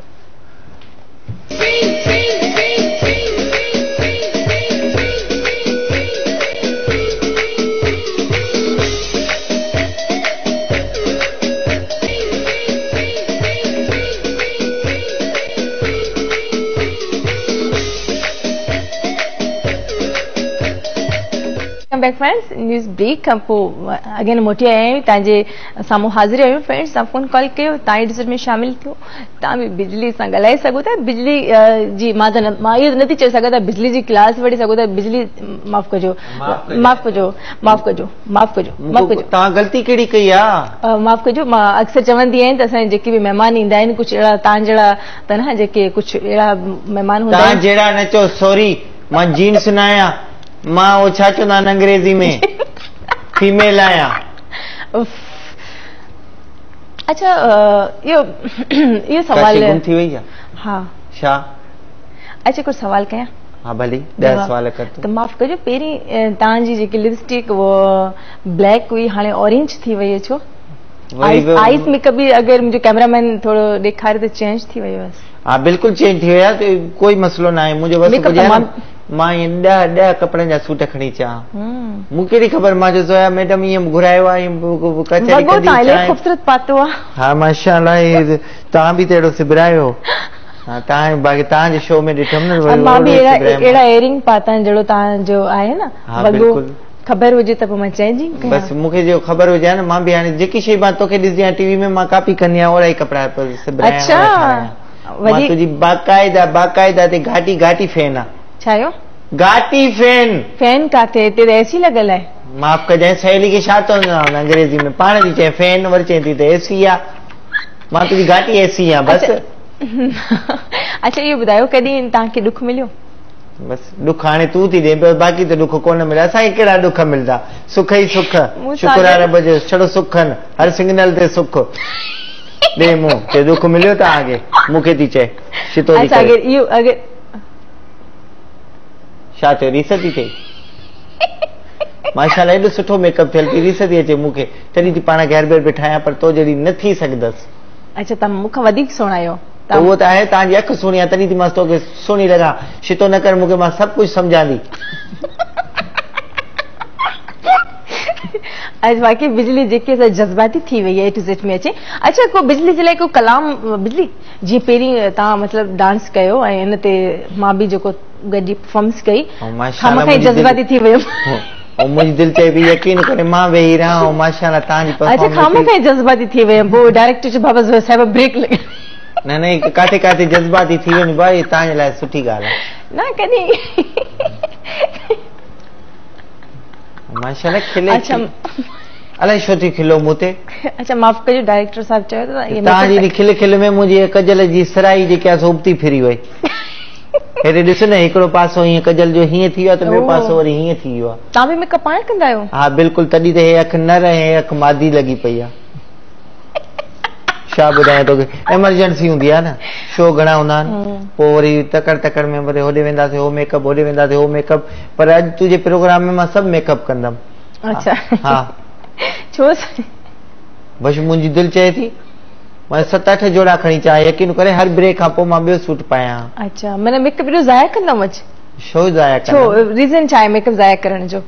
Back friends news break खां पोइ अगेन मोटी आया आहियूं तव्हांजे साम्हूं हाज़िर आहियूं। फ्रेंड्स तव्हां फोन कॉल कयो तव्हां डिजिट में शामिल थियो तव्हां बि बिजली सां ॻाल्हाए सघो था। बिजली जी मां त मां इहो नथी चई सघां त बिजली जी क्लास वठी सघो था। बिजली माफ़ कजो माफ़ कजो माफ़ कजो माफ़ कजो माफ़ कजो तव्हां ग़लती कहिड़ी कई आहे? माफ़ कजो मां अक्सर चवंदी आहियाँ त असांजा जेके बि महिमान ईंदा आहिनि कुझु अहिड़ा तव्हां जहिड़ा त न जेके कुझु अहिड़ा महिमान हूंदा आहिनि। तव्हां जहिड़ा न चओ सॉरी मां जीन्स न आहियाँ मां उहो छा चवंदा आहिनि अंग्रेज़ी में फीमेल आहियाँ। अच्छा इहो इहो सवाल गुम थी वई आहे? हा छा? अच्छा कुझु सवाल कयां? हा भली ॾह सवाल कर। त माफ़ कजो पहिरीं तव्हांजी जेकी लिपस्टिक उहो ब्लैक हुई हाणे ऑरेंज थी वई आहे छो? आइस मेकअप बि अगरि मुंहिंजो कैमरामैन थोरो ॾेखारे त चेंज थी वियो आहे। हा बिल्कुलु चेंज थी वियो आहे कोई मसइलो न आहे। मुंहिंजो बसि मां ईअं ॾह ॾह कपिड़नि जा सूट खणी अचां मूंखे कहिड़ी ख़बर मां चयो ज़ोया मैडम ईअं घुरायो आहे कचहरी कंदी ख़ूबसूरत पातो आहे। हा माशाअल्लाह तव्हां बि त अहिड़ो सिबरायो। हा तव्हां बाक़ी तव्हांजे शो में ॾिठुमि न मां बि अहिड़ा अहिड़ा इयरिंग पाता आहिनि जहिड़ो तव्हांजो आहे न वॻो ख़बर हुजे त पोइ मां चेंजिंग कयां। बसि मूंखे जो ख़बर हुजे न मां बि हाणे जेकी शइ मां तोखे ॾिसंदी आहियाँ टीवी में मां कॉपी कंदी आहियाँ ओहिड़ा ई कपिड़ा सिबरायां। अच्छा मां तुंहिंजी बाक़ाइदा बाक़ाइदा ते घाटी घाटी फैन आहे। छा आहियो? घाटी फैन फैन काथे? हिते त एसी लॻल आहे। माफ़ कजांइ सहेली खे छा चवंदा आहिनि अंग्रेज़ी में पाण थी चए फैन वरी चए थी त एसी आहे। मां तुंहिंजी घाटी एसी आहियाँ बसि। अच्छा इहो ॿुधायो कॾहिं तव्हांखे ॾुख मिलियो? बसि ॾुख हाणे तूं थी ॾे पियो बाक़ी त ॾुख कोन मिले। असांखे कहिड़ा ॾुख मिलंदा सुख ई सुख शुक्र आहे रब जो छड़ो सुख आहिनि हर सिग्नल ते सुख ॾे मूं चे ॾुख मिलियो तव्हांखे मूंखे थी चए शितो अच्छा अगरि इहो अगरि छा थियो रीस थी थिए? माशाअल्लाह एॾो सुठो मेकअप थियल थी रीस थी अचे मूंखे तॾहिं थी पाण खे हर भेरे ठाहियाँ पर तो जहिड़ी न थी सघंदसि। अच्छा तव्हां मूंखां वधीक सुहिणा आहियो। उहो त आहे तव्हांजी अखि सुहिणी आहे तॾहिं थी मां तोखे सुहिणी लॻां। शितो न कर मूंखे मां सभु कुझु सम्झां थी। अॼु वाकई बिजली जेकी जज़्बाती थी वई आहे टू जेड में अचे। अच्छा को बिजली जे लाइ को कलाम बिजली जीअं पहिरीं तव्हां मतिलबु डांस कयो ऐं इन ते मां बि जेको गॾिजी परफॉर्मेंस कई खामखां जज़्बाती थी वियुमि। ऐं मुंहिंजी दिलि चए पई यकीन करे मां वेही रहां ऐं माशाअल्लाह तव्हांजी अच्छा खामखां जज़्बाती थी वियुमि पोइ डायरेक्टर चयो बाबा साहिब ब्रेक लॻे न न काथे काथे जज़्बाती थी वञ भाई तव्हांजे लाइ सुठी ॻाल्हि आहे न कॾहिं माशाअल्लाह खिले अच्छा अलाए छो थी खिलो मूं ते। अच्छा माफ़ कजो डायरेक्टर साहिब चयो त तव्हांजी खिल खिल में मुंहिंजी कजल जी सराई जेकी आहे उबती फिरी वई। हेॾे ॾिस न हिकिड़ो पासो हीअं कजल जो हीअं थी वियो आहे त ॿियो पासो वरी हीअं थी वियो आहे। तव्हां बि मेकअप पाण कंदा आहियो? हा बिल्कुलु तॾहिं त हे अखि नर ऐं अखि मादी लॻी पई आहे। छा ॿुधायां तोखे एमरजेंसी हूंदी आहे न शो घणा हूंदा आहिनि पोइ वरी तकड़ तकड़ में वरी होॾे वेंदासीं हो मेकअप होॾे वेंदासीं हो मेकअप पर अॼु तुंहिंजे प्रोग्राम में मां सभु मेकअप कंदमि। अच्छा हा छो? बसि मुंहिंजी दिलि चए थी मां सत अठ जोड़ा खणी अचां यकीन करे हर ब्रेक खां पोइ मां ॿियो सूट पायां। अच्छा माना मेकअप एॾो ज़ाया कंदमि अॼु? छो ज़ाया छो रीज़न छा आहे मेकअप ज़ाया करण जो?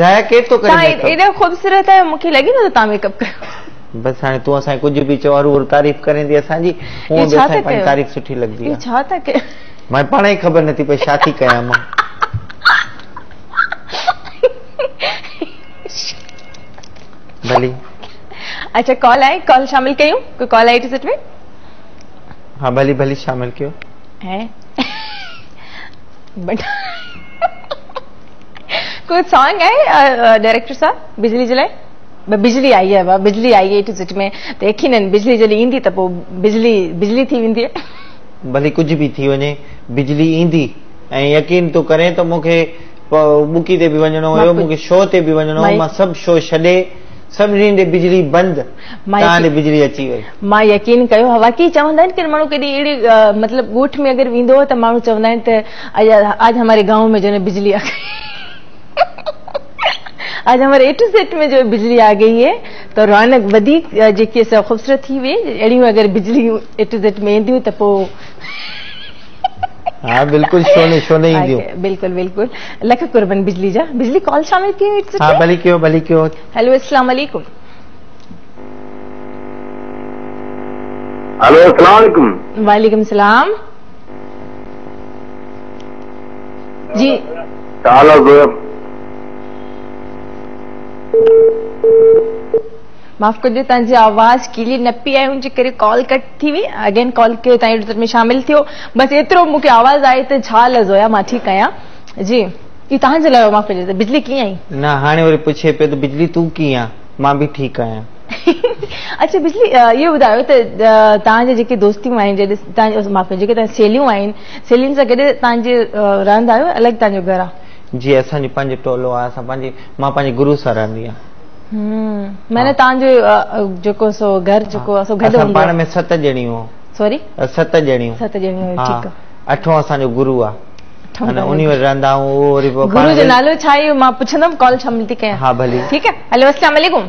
ज़ाया केरु थो करे? तव्हां एॾा ख़ूबसूरत आहियो मूंखे लॻे नथो तव्हां मेकअप कयो। बसि हाणे तूं असांखे कुझु बि चओ हर तारीफ़ करें थी असांजी हूअं बि असांखे पंहिंजी तारीफ़ सुठी लॻंदी आहे। छा था कयो? मां पाण ई ख़बर नथी पए छा थी कयां मां। भली अच्छा कॉल आहे कॉल शामिल कयूं कोई कॉल आई टिकट में? हा भली भली शामिल कयो। है बट कोई सॉन्ग आहे डायरेक्टर साहब बिजली जे लाइ? बिजली आई आहे बिजली आई आहे टिकट में त यकीनन बिजली जॾहिं ईंदी त पोइ बिजली बिजली थी वेंदी आहे। भली कुझु बि थी वञे बिजली ईंदी ऐं यकीन तूं करें त मूंखे बुकी ते बि वञिणो हुयो, मूंखे शो ते बि वञिणो हुयो, मां सभु शो छॾे सभिनी ॾे बिजली बंदि, तव्हां ॾे बिजली अची वई। मां यकीन कयो, वाकई चवंदा आहिनि की माण्हू कॾहिं अहिड़ी मतिलबु ॻोठ में अगरि वेंदो त माण्हू चवंदा आहिनि त आज हमारे गांव में जो है बिजली आ गई, आज हमारे ए टू जेड में जो बिजली आ गई है। त रौनक वधीक जेकी ख़ूबसूरत थी वई। अहिड़ियूं अगरि बिजली ए टू जेड में ईंदियूं त पोइ हा बिल्कुलु छो न छो न ईंदियूं। बिल्कुलु बिल्कुलु, लख कुर्बन बिजली जा। बिजली कॉल शामिल थी। हा भली कयो भली कयो। हेलो अस्सलाम वालेकुम। हेलो अस्सलाम वालेकुम। वालेकुम सलाम जी। माफ़ कजो, तव्हांजी आवाज़ क्लियर न पई आई, उनजे करे कॉल कट थी वई। अगेन कॉल कयो, तव्हां में शामिल थियो। बसि एतिरो मूंखे आवाज़ आई त छा लॻो आहे, मां ठीकु आहियां जी। इहो तव्हांजे लाइ माफ़ कजो, बिजली कीअं आई? न हाणे वरी पुछे पियो त बिजली तूं कीअं आहीं, मां बि ठीकु आहियां। अच्छा बिजली, इहो ॿुधायो त तव्हांजे जेके दोस्तियूं आहिनि, जॾहिं तव्हांजे माफ़ कजो, जेके तव्हां सहेलियूं आहिनि, सहेलियुनि सां गॾु तव्हांजे रहंदा आहियो, अलॻि तव्हांजो घरु आहे? जी असांजो पंहिंजो टोलो आहे, असां पंहिंजी मां पंहिंजे गुरू सां रहंदी आहियां। हम्म, माना तव्हांजो जेको सो घर जेको सो गॾु हूंदो? पाण में सत ॼणियूं। सॉरी, सत ॼणियूं। सत ॼणियूं, ठीकु आहे। अठों असांजो गुरू आहे, अने उन्ही वटि रहंदा आहियूं। उहो वरी पोइ गुरू जो नालो छा आहे मां पुछंदमि, कॉल शामिल थी कयां। हा भली, ठीकु आहे। हेलो अस्सलाम वालेकुम।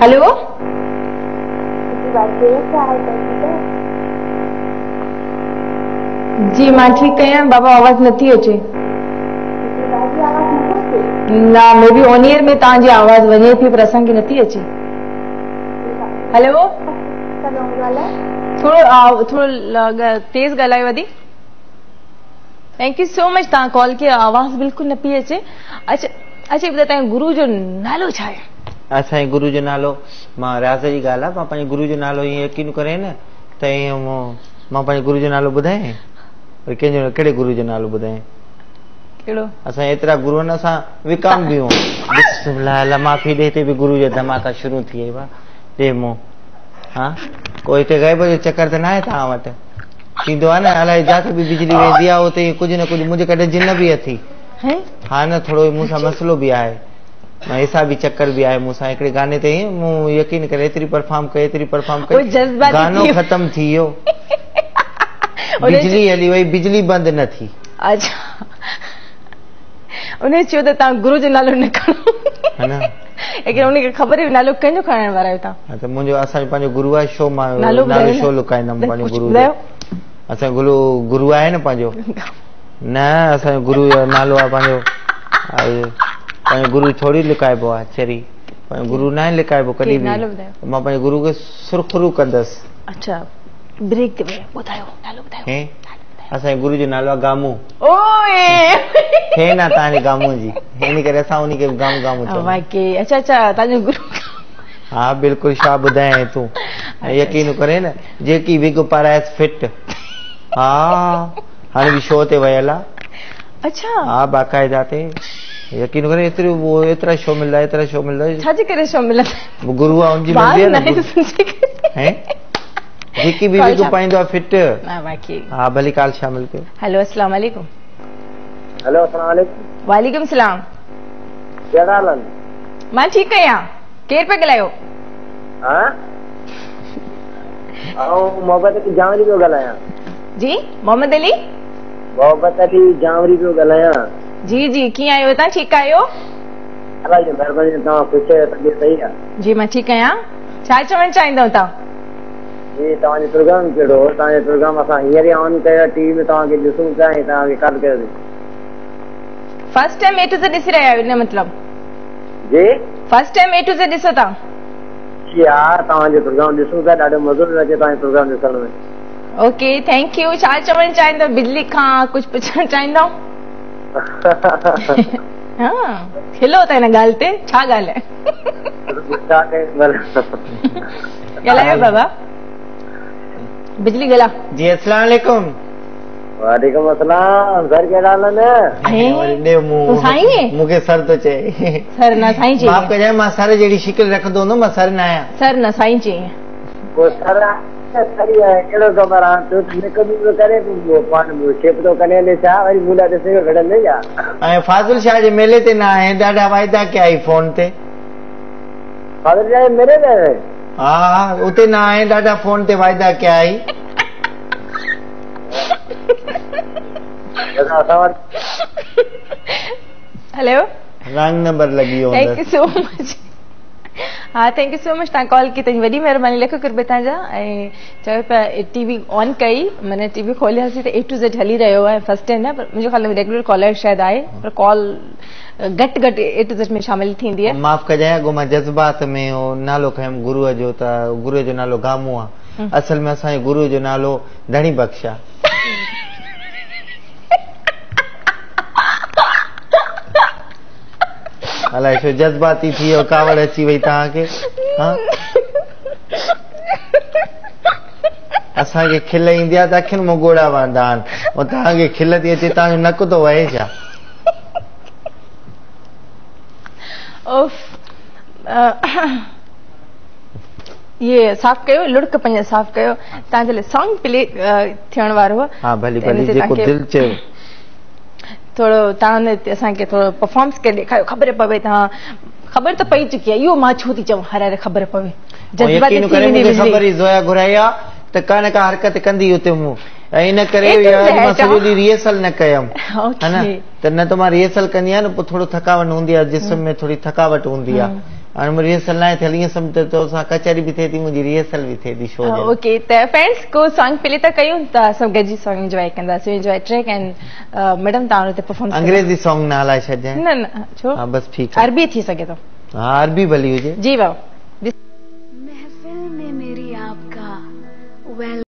हेलो जी मां ठीकु आहियां बाबा, आवाज़ नथी अचे। न मे बी ऑन एयर में तव्हांजी आवाज़ वञे थी पर असांखे नथी अचे। हेलो, थोरो थोरो तेज़ ॻाल्हायो वधी। Thank you so much, तव्हां कॉल कयो, आवाज़ बिल्कुलु न पई अचे। अच्छा अच्छा, ॿुधायो तव्हांजे गुरू जो नालो छा आहे? असांजे गुरू जो नालो, मां राज़ जी ॻाल्हि आहे, मां पंहिंजे गुरू जो नालो ईअं यकीन करे न त ईअं मां पंहिंजे गुरू जो नालो ॿुधायां, पर कंहिंजो कहिड़े गुरू जो नालो ॿुधायां? कहिड़ो? असां एतिरा गुरू आहिनि, असां विकाम बि बिस्मिल्लाह माफ़ी ॾे, हिते बि गुरू जा धमाका शुरू थी विया। ॾे मूं हा, को हिते ग़ैब जो चक्कर त न आहे तव्हां वटि? थींदो आहे न, अलाए जिते बि बिजली वेंदी आहे उते कुझु न कुझु। मुंहिंजे कॾहिं जिन बि अथी हा न, थोरो मूंसां मसइलो बि आहे, हिसाबी चक्कर बि आहे मूंसां। हिकिड़े गाने ते मूं यकीन करे एतिरी परफॉर्म कई, एतिरी परफॉर्म कई, गानो ख़तमु थी वियो, बिजली हली वई, बिजली बंदि न थी। अच्छा, उन चयो त तव्हां गुरू जो नालो न खणो, हा न, लेकिन उनखे ख़बर हुई नालो कंहिंजो खणण वारा आहियो तव्हां। हा त मुंहिंजो असांजो पंहिंजो गुरू आहे, शो मां नालो शो लुकाईंदमि पंहिंजो गुरू जो। असांजो गुरू गुरू आहे न पंहिंजो, न असांजो गुरू जो नालो आहे पंहिंजो, पंहिंजो गुरू थोरी लुकाइबो आहे, चरी पंहिंजो गुरू न लुकाइबो कॾहिं बि। मां पंहिंजे गुरू खे सुरखरू कंदसि। अच्छा ब्रेक ते ॿुधायो, नालो ॿुधायो। असांजे गुरू जो नालो आहे गामू। ओए हे न तव्हांजे गामू जी, इन करे असां उनखे गामू गामू चऊं। वाकई अच्छा अच्छा, तव्हांजो गुरू। हा बिल्कुलु, छा ॿुधायां तूं, यकीन करे न, जेकी विग पारायसि फिट। हा हाणे बि शो ते वियल आहे। अच्छा हा बाक़ाइदा ते, यकीन करे एतिरो एतिरा शो मिलंदा, एतिरा शो मिलंदा। छाजे करे शो मिलंदा? गुरू आहे उनजी मर्ज़ी आहे न, हैं जेकी बि विग पाईंदो आहे फिट। हा वाकई। हा भली कॉल शामिल कयो। हेलो अस्सलाम वालेकुम। हेलो अस्सलाम वालेकुम। वालेकुम सलाम। कहिड़ा हाल आहिनि? मां ठीकु आहियां, केरु पिया ॻाल्हायो? हा आउं मोहम्मद अली जांवरी पियो ॻाल्हायां। जी मोहम्मद अली, मोहम्मद अली जांवरी पियो ॻाल्हायां। जी जी, कीअं आहियो तव्हां? ठीकु आहियो? अलाह जी महिरबानी, तव्हां ख़ुशि आहियो? तबियत सही आहे? जी मां ठीकु आहियां। छा चवणु चाहींदव तव्हां? जी तव्हांजो प्रोग्राम कहिड़ो हो? तव्हांजो प्रोग्राम असां हींअर ई ऑन कयो, टीवी में तव्हांखे ॾिसूं पिया ऐं तव्हांखे कॉल कयोसीं। First time A to Z ॾिसी रहिया आहियो इन मतलब? जी first time A to Z ॾिसो था? जी हा, तव्हांजो प्रोग्राम ॾिसूं पिया, ॾाढो मज़ो पियो अचे तव्हांजो प्रोग्राम ॾिसण में। Okay thank you. छा चवणु चाहींदव? बिजली खां कुझु पुछणु चाहींदव? हा खिलो त हिन ॻाल्हि ते, छा ॻाल्हि आहे? ॻाल्हायो बाबा, बिजली ॻाल्हा। जी अस्सलाम वालेकुम। वालेकुम अस्सलाम। सर कहिड़ा हाल आहिनि? साईं मूंखे सर थो चए। सर न साईं चए। माफ़ कजांइ, मां सर जहिड़ी शिकल रखंदो हूंदो, मां सर न आहियां। सर न साईं चए। पोइ सर सही आहे, कहिड़ो ख़बर आहे? तूं त मेकअप करे पाण शेप थो करे हले छा वरी मूं लाइ ॾिसे घटंदे छा? ऐं फाज़िल शाह जे मेले ते न आहे, ॾाढा वाइदा कया आई फ़ोन ते। फाज़िल शाह जे मेले ते? हा हा, उते न आहे, ॾाढा फ़ोन ते वाइदा कया आई। हेलो, रॉन्ग नंबर लॻी वियो। Thank you so much. हा, thank you so much, तव्हां कॉल कई, तव्हांजी वॾी महिरबानी, लख क़ुर्ब तव्हांजा। ऐं चयो पिया टीवी ऑन कई, माना टीवी खोलियासीं त ए टू ज़ेड हली रहियो आहे, फर्स्ट टाइम न, पर मुंहिंजो ख़्याल रेगुलर कॉलर शायदि आहे, पर कॉल घटि घटि ए टू ज़ेड में शामिल थींदी आहे। माफ़ कजांइ, अॻो मां जज़्बात में उहो नालो खयमि गुरूअ जो, त गुरूअ जो नालो गामू आहे, असल में असांजे गुरूअ जो नालो धणी बख़्श आहे। अलाए छो जज़्बाती थी वियो, कावड़ अची वई तव्हांखे। हा, असांखे खिल ईंदी आहे त अखियुनि मां ॻोढ़ा वहंदा आहिनि, ऐं तव्हांखे खिल थी अचे, तव्हांजो नक थो वहे छा? उफ, इहे साफ़ कयो, लुड़क पंहिंजा साफ़ कयो। तव्हांजे लाइ सॉन्ग प्ले थियण वारो आहे। हा, भली भली, जेको दिलि चयो। थोरो तव्हां असांखे थोरो परफॉर्मेंस करे ॾेखारियो, ख़बर पवे। तव्हां ख़बर त पई चुकी आहे, इहो मां छो थी चवां, हर हर ख़बर पवे। यकीन करे मूंखे ख़बर ई ज़ोया घुराई आहे त का न का हरकत कंदी हुते मूं, ऐं इन करे मां सॼो ॾींहुं रिहर्सल न कयमि, हा न, त न त मां रिहर्सल कंदी आहियां न, पोइ थोरो थकावट हूंदी आहे, जिस्म में थोरी थकावट हूंदी आहे। हाणे मुंहिंजी रिहर्सल न आहे थियल, ईअं सम्झ त तोसां कचहरी बि थिए थी, मुंहिंजी रिहर्सल बि थिए थी शो जे। ओके, त फ्रेंड्स को सॉन्ग प्ले था कयूं त असां गॾिजी सॉन्ग एंजॉय कंदासीं। एंजॉय ट्रैक एंड मैडम तव्हां हुते परफॉर्म। अंग्रेज़ी सॉन्ग न हलाए छॾिजांइ। न न, छो? हा, बसि ठीकु आहे, अरबी थी सघे थो। हा, अरबी भली हुजे। जी बाबू। महफ़िल में मेरी आपका वेल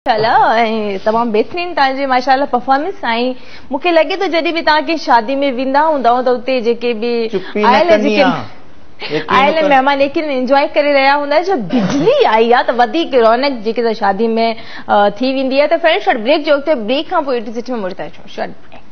माशाअल्लाह तमामु बहितरीन तव्हांजी माशाअल्लाह परफॉर्मेंस। ऐं मूंखे लॻे थो जॾहिं बि तव्हां कंहिं शादी में वेंदा हूंदव त उते जेके बि आयल जेके आयल महिमान लेकिन एंजॉय करे रहिया हूंदा, जो बिजली आई आहे त वधीक रौनक जेके त शादी में थी वेंदी आहे। त फ्रेंड शॉर्ट ब्रेक जो वक़्तु, ब्रेक खां पोइ एटी में मुड़ी था अचूं। Short break.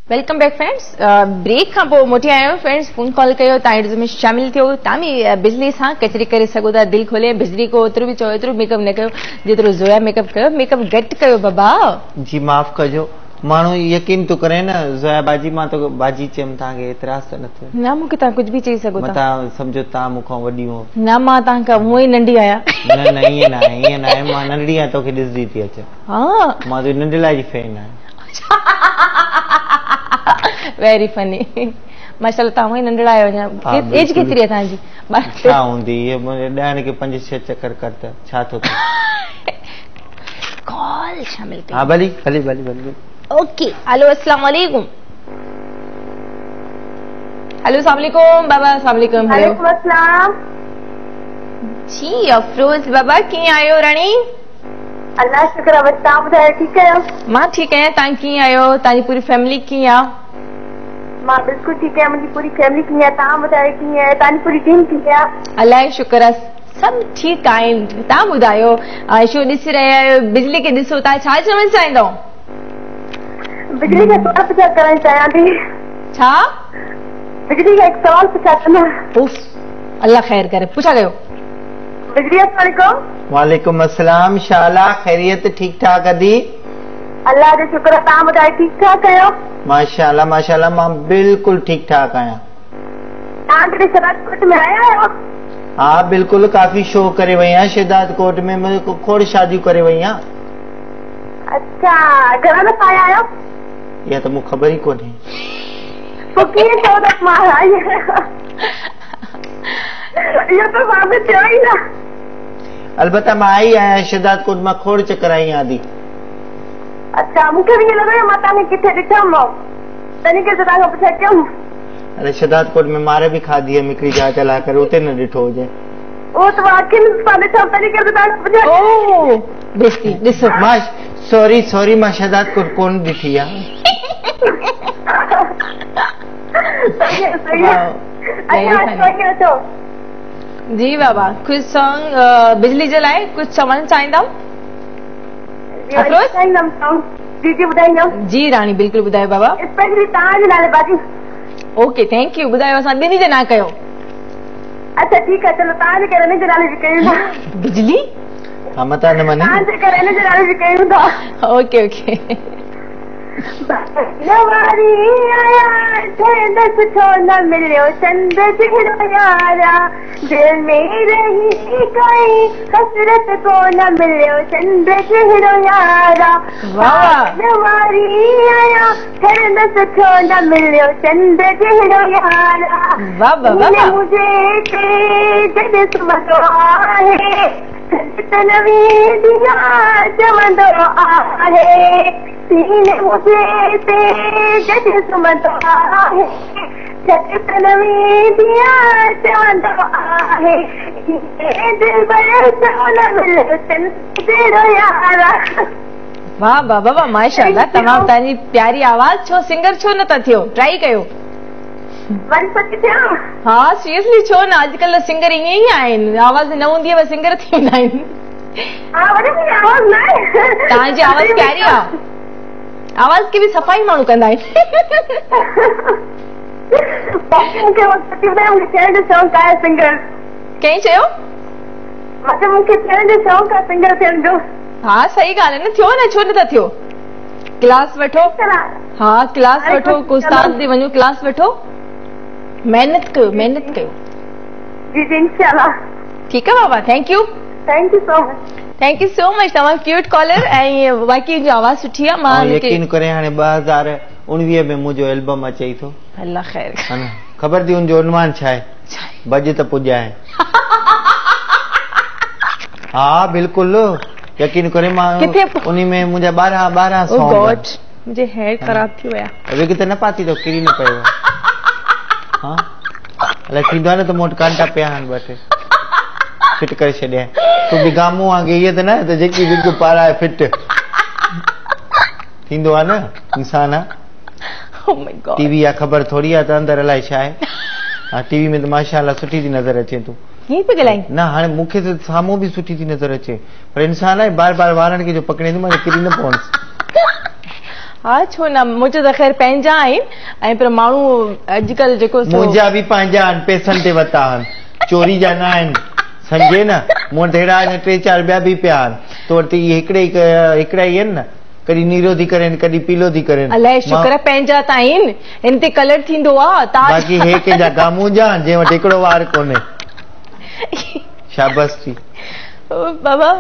Welcome back friends. Break खां पोइ मोटी आया आहियूं। फ्रेंड्स फोन कॉल कयो, तव्हां में शामिल थियो, तव्हां बि बिजली सां कचहरी करे सघो था दिलि खोले। बिजली को ओतिरो बि चओ एतिरो मेकअप न कयो जेतिरो ज़ोया मेकअप कयो, मेकअप घटि कयो बाबा। जी माफ़ कजो, माण्हू यकीन थो करे न ज़ोया बाजी, मां तो बाजी चयमि तव्हांखे एतिराज़ त न थियो न, मूंखे तव्हां कुझु बि चई सघो था। तव्हां सम्झो तव्हां मूंखां वॾी हो। न, मां तव्हां हूअं ई नंढी आहियां। न न ईअं न आहे, ईअं न आहे, मां नंढड़ी आहियां तोखे ॾिसंदी थी अचां। हा, मां तुंहिंजी नंढड़ा जी फैन आहियां। वेरी फनी माशाअल्लाह, तव्हां ई नंढड़ा आहियो अञा। एज केतिरी आहे तव्हांजी? छा हूंदी इहे मुंहिंजे ॾहनि खे पंज छह चकर कर त छा थो कॉल शामिल हा भली भली भली भली। ओके हेलो, अस्सलाम वालेकुम। हेलो अस्सलाम वालेकुम बाबा। अस्सलाम वालेकुम। हेलो वालेकुम अस्सलाम। जी अफरोज बाबा, कीअं आहियो राणी? अल्लाह शुक्र आहे, तव्हां ॿुधायो ठीकु आहियो? मां ठीकु आहियां, तव्हां कीअं आहियो? तव्हांजी पूरी फैमिली कीअं आहे? मां बिल्कुलु ठीकु आहियां, मुंहिंजी पूरी फैमिली कीअं आहे? तव्हां ॿुधायो कीअं आहे? तव्हांजी पूरी टीम कीअं आहे? अल्लाह जो शुक्र आहे, सभु ठीकु आहिनि। तव्हां ॿुधायो, शो ॾिसी रहिया आहियो, बिजली खे ॾिसो, तव्हां छा चवणु चाहींदव? बिजली खे सवाल पुछा करणु चाहियां थी। छा? बिजली खे हिकु सवाल पुछा कंदमि। उफ, अल्लाह ख़ैर करे, पुछा कयो। बिजली अस्सलाम वालेकुम। वालेकुम अस्सलाम। शाला खैरियत ठीक ठाक अदी? अल्लाह जो शुक्र आहे, तव्हां ॿुधायो ठीक ठाक आहियो? माशाअल्लाह माशाअल्लाह, मां बिल्कुलु ठीक ठाक आहियां। तव्हां कॾहिं शहदादकोट में आया आहियो? हा बिल्कुलु, काफ़ी शो करे वई आहियां शहदादकोट में, मुंहिंजो खोड़ शादियूं करे वई आहियां। अच्छा, घणा दफ़ा आया आहियो? इहा त मूंखे ख़बर ई कोन्हे। पोइ कीअं चओ त मां आई आहियां? इहो त साबित थियो ई न। अलबत्ता मां आई आहियां शहदादकोट मां, खोड़ चकर आई आहियां अदी। अच्छा, मूंखे बि ईअं लॻो मां तव्हांखे किथे ॾिठो, तॾहिं करे तव्हां पुछा कयमि। अरे शहदादकोट में मारे बि खाधी आहे हिकिड़ी जाइ ते लाइ करे, उते न ॾिठो हुजे। उहो त मां अखियुनि सां ॾिठो, तॾहिं करे तव्हां पुछा। ओ बेइज्जती ॾिसो। मां सॉरी सॉरी, मां शहदादकोट कोन ॾिठी आहे। सही आहे, सही आहे। अच्छा जी बाबा, कुझु सॉन्ग बिजली जे लाइ कुझु चवणु चाहींदव? जी जी ॿुधाईंदमि। जी राणी बिल्कुलु ॿुधायो बाबा। स्पेशली तव्हांजे नाले बाजी। Okay thank you. ॿुधायो, असां ॿिन्ही जे ना कयो। अच्छा ठीकु आहे, चलो तव्हांजे करे हिन जे नाले बि कयूं था। बिजली हा मतां न मञे, तव्हांजे करे हिन जे नाले बि कयूं था। Okay okay. वारी आया ठहंदसि छो न मिलियो चंद जहिड़ो यारा, दिल में रही काई हसरत को न मिलियो चंद जहिड़ो यारा। वारी आया ठहंदसि छो न मिलियो चंद जहिड़ो यारा। मुझे ते जॾहिं सुम्हंदो आहे त न वेंदी चवंदो आहे, सीने मुझे ते जॾहिं सुम्हंदो आहे त न वेंदी चवंदो आहे, दिलबर छो न मिलियो चंद जहिड़ो यारा। वाह वाह वाह माशाअल्लाह, तमामु तव्हांजी प्यारी आवाज़। छो सिंगर छो नथा थियो? ट्राई कयो। वरी सच थियो? हा सीरियसली छो न, अॼुकल्ह सिंगर ईअं ई आहिनि, आवाज़ न हूंदी आहे पर सिंगर थी वेंदा आहिनि। हा वरी मुंहिंजी आवाज़ न आहे। तव्हांजी आवाज़ प्यारी आहे, आवाज़ खे बि सफ़ाई माण्हू कंदा आहिनि। मूंखे मूंखे थियण जो शौक़ु आहे सिंगर। कंहिं चयो? मूंखे मूंखे थियण जो शौक़ु आहे सिंगर थियण जो। हा सही ॻाल्हि आहे न, थियो न, छो नथा थियो? क्लास वठो। हा क्लास वठो, उस्ताद ते वञो, क्लास वठो, महिनत कयो, महिनत कयो। जी जी इंशाअल्लाह। ठीकु आहे बाबा, thank you. Thank you so much. Thank you so much, तमामु क्यूट कॉलर ऐं बाक़ी जो आवाज़ सुठी आहे। मां यकीन करे हाणे ॿ हज़ार उणिवीह में मुंहिंजो एल्बम अचे थो। अल्लाह ख़ैर। ख़बर थी उनजो उन्वान छा आहे? भॼ त पुॼाए। हा बिल्कुलु यकीन करे मां उन में मुंहिंजा ॿारहं ॿारहं सॉन्ग। ओ गॉड मुंहिंजे हेयर ख़राब थी विया। विग त न पाती अथव, किरी न पियो। हा अलाए थींदो आहे न त मूं वटि कांटा पिया आहिनि ॿ टे, फिट करे छॾिया। तूं बि गामू वांगुरु ईअं त न त जेकी विग पाराए फिट थींदो आहे न इंसान आहे। Oh my God. TV आहे ख़बर थोरी आहे त अंदरि अलाए छा आहे। हा टीवी में त माशाअल्लाह सुठी थी नज़र अचे तूं। ईअं पई ॻाल्हाईं? न हाणे मूंखे त साम्हूं बि सुठी थी नज़र अचे, पर इंसान आहे बार बार वारनि खे जो पकड़े मां किरी न पवंसि। हा छो न, मुंहिंजो त ख़ैर पंहिंजा आहिनि ऐं पर माण्हू अॼुकल्ह जेको मुंहिंजा बि पंहिंजा आहिनि, पैसनि ते वरिता आहिनि, चोरी जा न आहिनि, सम्झे न। मूं वटि अहिड़ा आहिनि टे चारि ॿिया बि पिया आहिनि, तो वटि इहे हिकिड़े हिकिड़ा ई आहिनि न, कॾहिं नीरो थी करे कॾहिं पीलो थी करे। अलाए शुक्र आहे पंहिंजा त आहिनि, हिन ते कलर थींदो आहे। बाक़ी हे कंहिंजा गामू जा जंहिं वटि हिकिड़ो वार कोन्हे। शाबाश थी बाबा,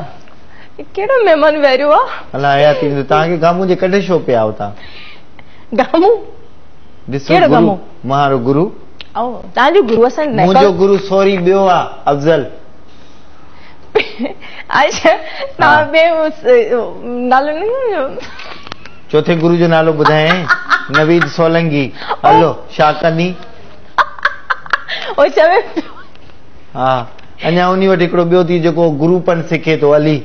कहिड़ो महिमान वेरियो आहे? अलाए हयाती ॾींदो। तव्हांखे गामू जे कॾहिं शो पिया आहियो तव्हां? गामू ॾिसो कहिड़ो गामू? महारो गुरू। तव्हांजो गुरू असां मुंहिंजो गुरू सॉरी ॿियो आहे अफ़ज़ल। अच्छा तव्हां ॿिए नालो न, चोथे गुरू जो नालो ॿुधाए। नवीद सोलंगी। हलो छा कंदी? ओ चवे हा अञा उन वटि हिकिड़ो ॿियो थी जेको गुरूपन सिखे थो, अली।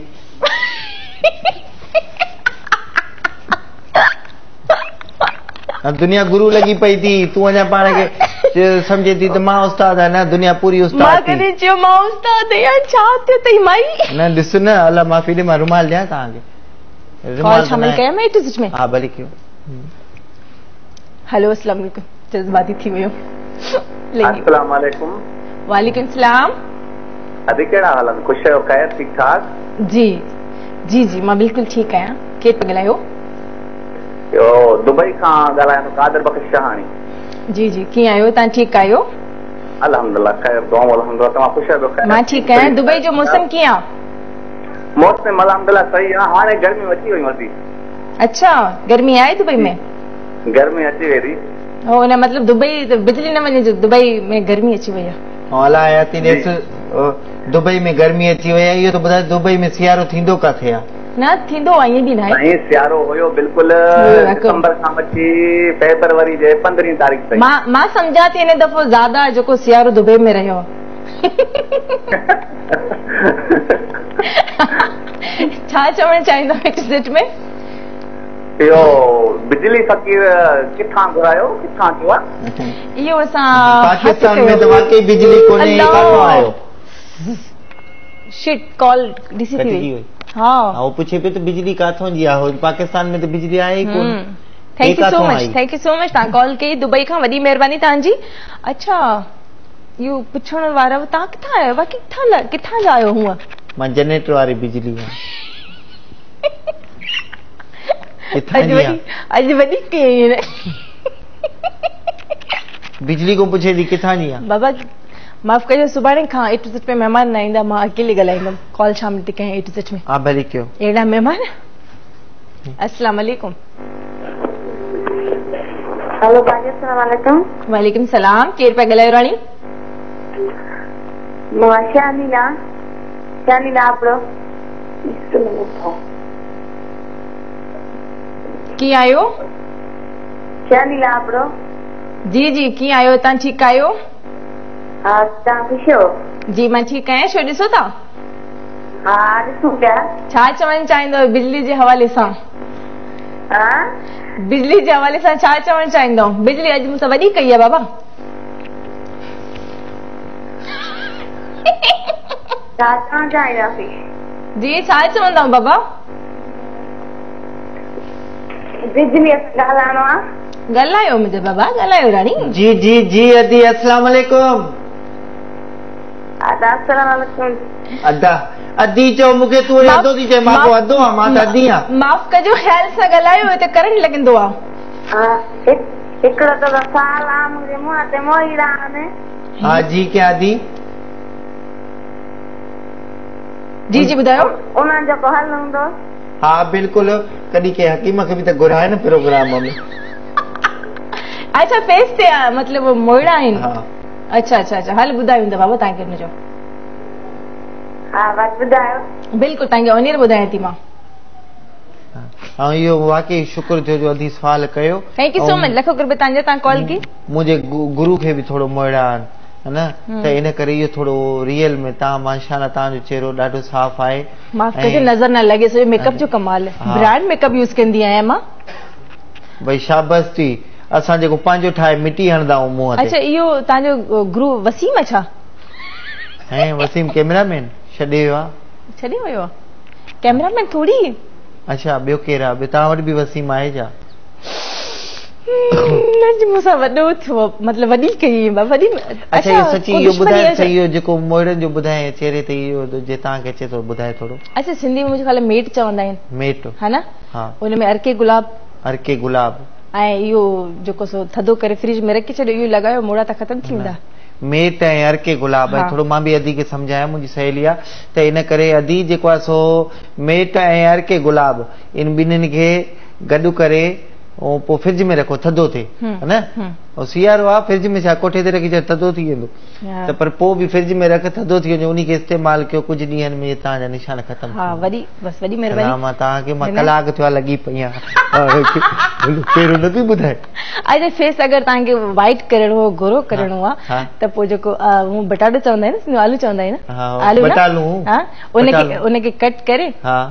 दुनिया गुरू लॻी पई थी, तूं अञा पाण खे सम्झे थी त मां उस्ताद आहियां। न दुनिया पूरी उस्ताद मां कॾहिं चयो मां उस्ताद आहियां? छा थियो अथई माई? न ॾिस न, अलाह माफ़ी ॾे, मां रुमाल ॾियां तव्हांखे। कॉल शामिल कयां मां ए में? हा भले कयो। हेलो अस्सलाम वालेकुम। जज़्बाती थी वियो। अस्सलाम वालेकुम। वालेकुम सलाम। अदी कहिड़ा हाल आहिनि? ख़ुशि आहियो? ख़ैर ठीक ठाक? जी जी जी मां बिल्कुलु ठीकु आहियां। केरु पियो ॻाल्हायो? इहो दुबई खां ॻाल्हायां थो, कादर बख़्श शहाणी। जी जी कीअं आहियो तव्हां? ठीकु आहियो? अल्हम्दुलिल्लाह ख़ैर दुआ अल्हम्दुलिल्लाह। तव्हां ख़ुशि आहियो? ख़ैर मां ठीकु आहियां। दुबई जो मौसम कीअं आहे? मौसम अल्हम्दुलिल्लाह सही आहे, हाणे गर्मी अची वई वधी। अच्छा गर्मी आहे दुबई में? गर्मी अची वई थी। हो न मतलब दुबई बिजली न वञे जो दुबई में गर्मी अची वई आहे। अलाह हयाती ॾेस, दुबई में गर्मी अची वई आहे। इहो त ॿुधाए दुबई में सियारो थींदो किथे आहे? न थींदो आहे, ईअं बि न आहे। साईं सियारो हुयो बिल्कुलु दिसंबर खां वठी फेब्रुअरी जे पंद्रहीं तारीख़ ताईं। मां मां सम्झां थी हिन दफ़ो ज़्यादा जेको सियारो दुबई में रहियो। छा चवणु चाहींदो एग्ज़िट में? इहो बिजली फ़क़ीर किथां घुरायो, किथां थियो आहे? इहो असां पाकिस्तान में त वाकई बिजली कोन्हे, काथां आयो? शिट कॉल ॾिसी थी वई। हा हा पुछे पियो त बिजली काथों जी आहे? पाकिस्तान में त बिजली आहे ई कोन। Thank you so much, thank you so much. तव्हां कॉल कई दुबई खां, वॾी महिरबानी तव्हांजी। अच्छा इहो पुछण वारा तव्हां किथां आहियो? बाक़ी किथां किथां जा आहियो हूअं? मां जनरेटर वारी बिजली आहे। अॼु वॾी कई बिजली को पुछे थी किथां जी आहे? बाबा माफ़ कजो, सुभाणे खां ए टू ज़ेड पे महिमान न ईंदा, मां अकेले ॻाल्हाईंदमि। कॉल शामिल थी कयां ए टू ज़ेड में। हा भले कयो। अहिड़ा महिमान। अस्सलाम वालेकुम। हेलो बाजी अस्सलाम वालेकुम। वालेकुम सलाम। केरु पिया ॻाल्हायो राणी? मां शानीला, शानीला आपरो। कीअं आहियो? शानीला आपरो। जी जी कीअं आहियो तव्हां? ठीकु आहियो? हा तव्हां ख़ुशि आहियो? जी मां ठीकु आहियां। छो ॾिसो था? हा ॾिसूं पिया। छा चवणु चाहींदो बिजली जे हवाले सां? हा बिजली जे हवाले सां छा चवणु चाहींदो? बिजली अॼु मूंसां वॾी कई आहे बाबा। छा चवणु चाहींदासीं? जी छा चवंदव बाबा? बिजली सां ॻाल्हाइणो आहे। ॻाल्हायो मुंहिंजा बाबा, ॻाल्हायो राणी। जी जी जी अदी अस्सलाम वालेकुम। अदा अस्सलाम वालेकुम। अदा अदी चओ मूंखे, तूं वरी अदो थी चए, मां पोइ अदो आहियां, मां त अदी आहियां। माफ़ कजो, ख़्याल सां ॻाल्हायो, हिते करंट लॻंदो आहे। हा हिकिड़ो त साल आहे मुंहिंजे मुंहं ते मोईड़ा आहिनि। हा जी क्या अदी? जी जी ॿुधायो। उन्हनि जो को हल हूंदो? हा बिल्कुलु, कॾहिं कंहिं हकीम खे बि त घुराए न प्रोग्राम में। अच्छा फेस ते मतिलबु मोड़ा आहिनि। अच्छा अच्छा अच्छा हल ॿुधायूं था बाबा तव्हांखे हुनजो। हा बसि ॿुधायो। बिल्कुलु तव्हांखे ऑनियर ॿुधायां थी मां। ऐं इहो वाकई शुक्र थियो जो अधी सवाल कयो। Thank you so much, लखो कुर्ब तव्हांजो तव्हां कॉल की। मुंहिंजे गुरू खे बि थोरो मोड़ा आहिनि है न, त इन करे इहो थोरो रियल में तव्हां माशाअल्लाह तव्हांजो चहिरो ॾाढो साफ़ आहे। माफ़ कजो नज़र न लॻे, सॼो मेकअप जो कमाल आहे, ब्रांड मेकअप यूज़ कंदी आहियां मां। भई शाबाश थी, असां जेको पंहिंजो ठाहे मिटी हणंदा आहियूं मुंहं ते। अच्छा इहो तव्हांजो गुरू वसीम आहे छा? ऐं वसीम कैमरामैन छॾे वियो आहे। छॾे वियो आहे? कैमरामैन थोरी। अच्छा ॿियो केरु आहे? ॿियो तव्हां वटि बि वसीम आहे छा? अॼु मूंसां वॾो थियो, मतिलबु वॾी कई वॾी। अच्छा इहो सची इहो ॿुधाए सही, इहो जेको मोड़नि जो ॿुधाए चहिरे ते इहो जे तव्हांखे अचे थो ॿुधाए थोरो। अच्छा सिंधी में मुंहिंजे ख़्याल मेट चवंदा आहिनि। मेट हा न? हा हुन में अर्के गुलाब, अर्के गुलाब ऐं इहो जेको सो थधो करे फ्रिज में रखी छॾियो, इहो लॻायो मोड़ा त ख़तमु थी वेंदा। मेट ऐं अर्के गुलाब ऐं थोरो मां बि अदी खे सम्झायां, मुंहिंजी सहेली आहे त इन करे अदी जेको आहे सो मेट ऐं अर्के गुलाब इन ॿिन्हिनि खे गॾु करे ऐं पोइ फ्रिज में रखो थधो थिए है न। ऐं सियारो आहे फ्रिज में छा कोठे ते रखी छॾ थधो थी वेंदो, त पर पोइ बि फ्रिज में रख थधो थी वञे, उन खे इस्तेमालु कयो कुझु ॾींहंनि में तव्हांजा निशान ख़तमु। हा वॾी बसि वॾी महिरबानी। मां तव्हांखे मां कलाक थियो आहे लॻी पई आहियां पहिरियों न पई ॿुधाए। अच्छा फेस अगरि तव्हांखे वाइट करिणो गोरो करिणो आहे त पोइ जेको बटाटो चवंदा आहिनि, आलू चवंदा आहिनि, आलू बटालू, हा उनखे उनखे कट करे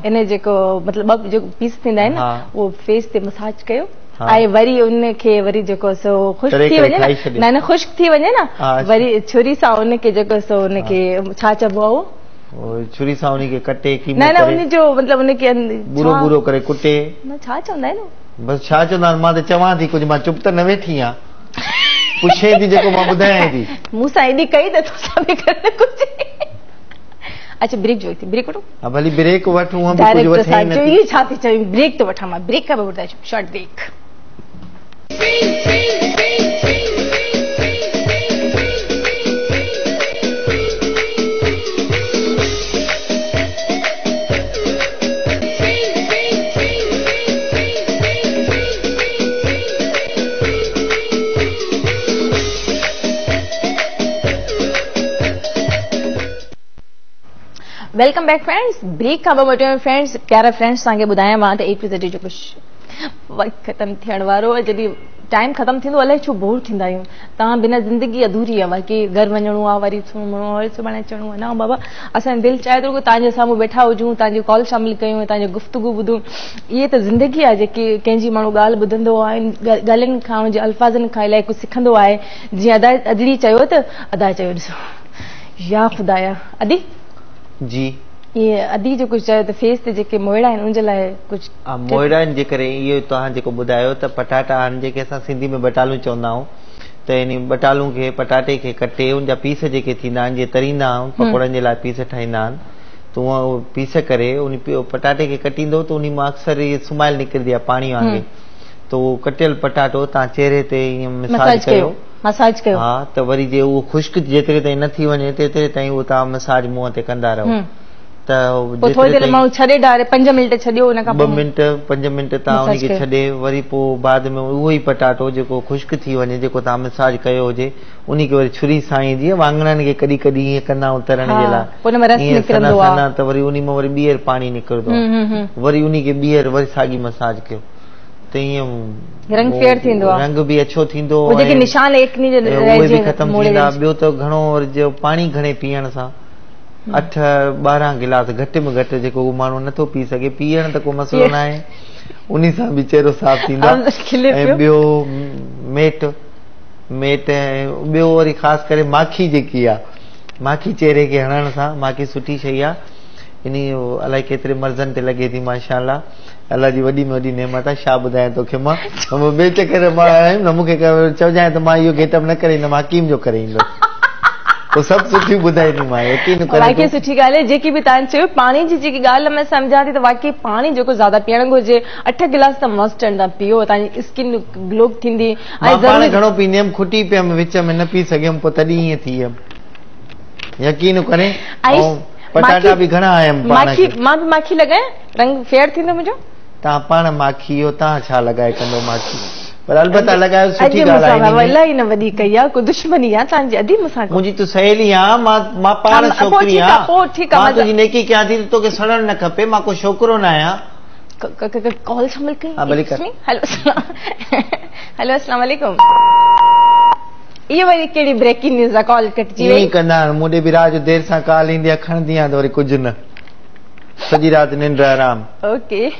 इन जेको मतिलबु ॿ जेको पीस थींदा आहिनि उहो फेस ते मसाज कयो ऐं वरी उनखे वरी जेको सो ख़ुश्क थी वञे न, न ख़ुश्क थी वञे न, वरी छुरी सां उनखे जेको सो उनखे छा चइबो आहे उहो, छुरी सां उनखे कटे न न उनजो मतिलबु उनखे बूरो बूरो करे कुटे न छा चवंदा आहिनि बसि छा चवंदा आहिनि। मां त चवां थी कुझु, मां चुप त न वेठी आहियां, पुछे थी जेको मां ॿुधायां थी। मूंसां एॾी कई त तोसां बि करणु घुरिजे। अच्छा ब्रेक जो थी, ब्रेक वठो। हा भली ब्रेक वठूं, हम बि कुझु वठे न थी। छा थी चई ब्रेक तो वठां मां, ब्रेक खां पोइ ॿुधाए short break. Welcome back friends, break खां पोइ मोटियो फ्रेंड्स। प्यारा फ्रेंड्स तव्हांखे ॿुधायां मां त ए टू ज़ेड जो कुझु वक़्तु ख़तमु थियण वारो आहे। जॾहिं टाइम ख़तमु थींदो अलाए छो बोर थींदा आहियूं। तव्हां बिना ज़िंदगी अधूरी आहे, बाक़ी घर वञिणो आहे, वरी सुम्हणो आहे, वरी सुभाणे अचिणो आहे। न बाबा, असांजी दिलि चाहे थो तव्हांजे साम्हूं वेठा हुजूं, तव्हांजी कॉल शामिल कयूं, तव्हांजी गुफ़्तगू ॿुधूं। इहे त ज़िंदगी आहे जेकी कंहिंजी माण्हू ॻाल्हि ॿुधंदो आहे, ॻाल्हियुनि खां हुनजे अल्फ़ाज़नि खां इलाही कुझु सिखंदो आहे। जीअं अदा अदली चयो त अदा चयो ॾिसो या ख़ुदाया अदी जी, इहे अदी जो कुझु चयो त फेस ते जेके मोइड़ा आहिनि उनजे लाइ कुझु मोइड़नि जे करे इहो तव्हां जेको ॿुधायो त पटाटा आहिनि जेके असां सिंधी में बटालू चवंदा आहियूं, त इन बटालू खे पटाटे खे कटे उनजा पीस जेके थींदा आहिनि, जीअं तरींदा आहियूं पकौड़नि जे लाइ पीस ठाहींदा आहिनि, त उहा पीस करे उन पटाटे खे कटींदो त उन मां अक्सर इहे सुमाइल निकिरंदी आहे पाणी वांगुरु, त उहो कटियल पटाटो तव्हां चहिरे ते ईअं मसाज कयो, मसाज कयो हा, त वरी जे उहो ख़ुश्क जेतिरे ताईं न थी वञे तेतिरे ताईं उहो तव्हां मसाज मुंहं ते कंदा रहो। त पोइ थोरी देरि माण्हू छॾे डारे पंज मिंट छॾियो, उन खां ॿ मिंट पंज मिंट तव्हां उनखे छॾे वरी पोइ बाद में उहो ई पटाटो जेको ख़ुश्क थी वञे जेको तव्हां मसाज कयो हुजे उन खे वरी छुरी सां ईअं जीअं वाङणनि खे कॾहिं कॾहिं ईअं कंदा आहियूं तरण जे लाइ निकिरंदो आहे, त वरी उन मां वरी ॿीहर पाणी निकिरंदो आहे, वरी उन खे ॿीहर वरी साॻी मसाज कयो त ईअं रंग फेयर थींदो आहे, रंग बि अछो थींदो, जेके निशान एकनी जे उहे बि ख़तमु थींदा। ॿियो त घणो वरी जो पाणी घणे पीअण सां अठ ॿारहं गिलास घटि में घटि जेको माण्हू नथो पी सघे, पीअण त को मसइलो न आहे, उन सां बि चहिरो साफ़ थींदो आहे। ऐं ॿियो मेट मेट ऐं ॿियो वरी ख़ासि करे माखी जेकी आहे, माखी चहिरे खे हणण सां, माखी सुठी शइ आहे, इन अलाए केतिरे मर्ज़नि ते लॻे थी माशाअल्लाह। अलाह जी वॾी में वॾी नेमत आहे। छा ॿुधायां तोखे मां, ॿिए चक्कर मां आयुमि न, मूंखे चवजांइ त मां इहो गेटअप न करे ईंदुमि, हकीम जो करे ईंदुसि। पोइ सभु सुठी ॿुधाईंदीमांइ, यकीन करे। वाकई सुठी ॻाल्हि आहे जेकी बि तव्हां चयो। पाणी जी जेकी ॻाल्हि मां सम्झां थी त वाकई पाणी जेको ज़्यादा पीअणु घुरिजे, अठ गिलास त मस्ट आहिनि, तव्हां पियो, तव्हांजी स्किन ग्लो थींदी। ऐं पाणी घणो पींदी हुयमि, खुटी पियमि विच में, न पी सघियमि, पोइ तॾहिं ईअं थी वियमि, यकीन करे। ऐं पटाटा बि घणा आयमि पाण माखी, मां बि माखी लॻायां, रंग फेयर थींदो मुंहिंजो। तव्हां पाण माखी हो, तव्हां छा लॻाए कंदो माखी? पर अलबत्ता लॻायो सुठी ॻाल्हि आहे। वल्लाही न वॾी कई आहे, को दुश्मनी आहे तव्हांजी अदी मूंसां? मुंहिंजी तूं सहेली आहीं, मां मां पाण छोकिरी आहियां। पोइ ठीकु आहे, मां तुंहिंजी नेकी कयां थी, तोखे सड़णु न खपे, मां को छोकिरो न आहियां। कॉल शामिल कई? हेलो हेलो, अस्सलाम वालेकुम। इहो वरी कहिड़ी ब्रेकिंग न्यूज़ आहे, कॉल कटिजी वई। ईअं कंदा आहिनि, मूं ॾे बि राति जो देरि सां कॉल ईंदी आहे, खणंदी आहियां त वरी कुझु न, सॼी राति निंड आराम। ओके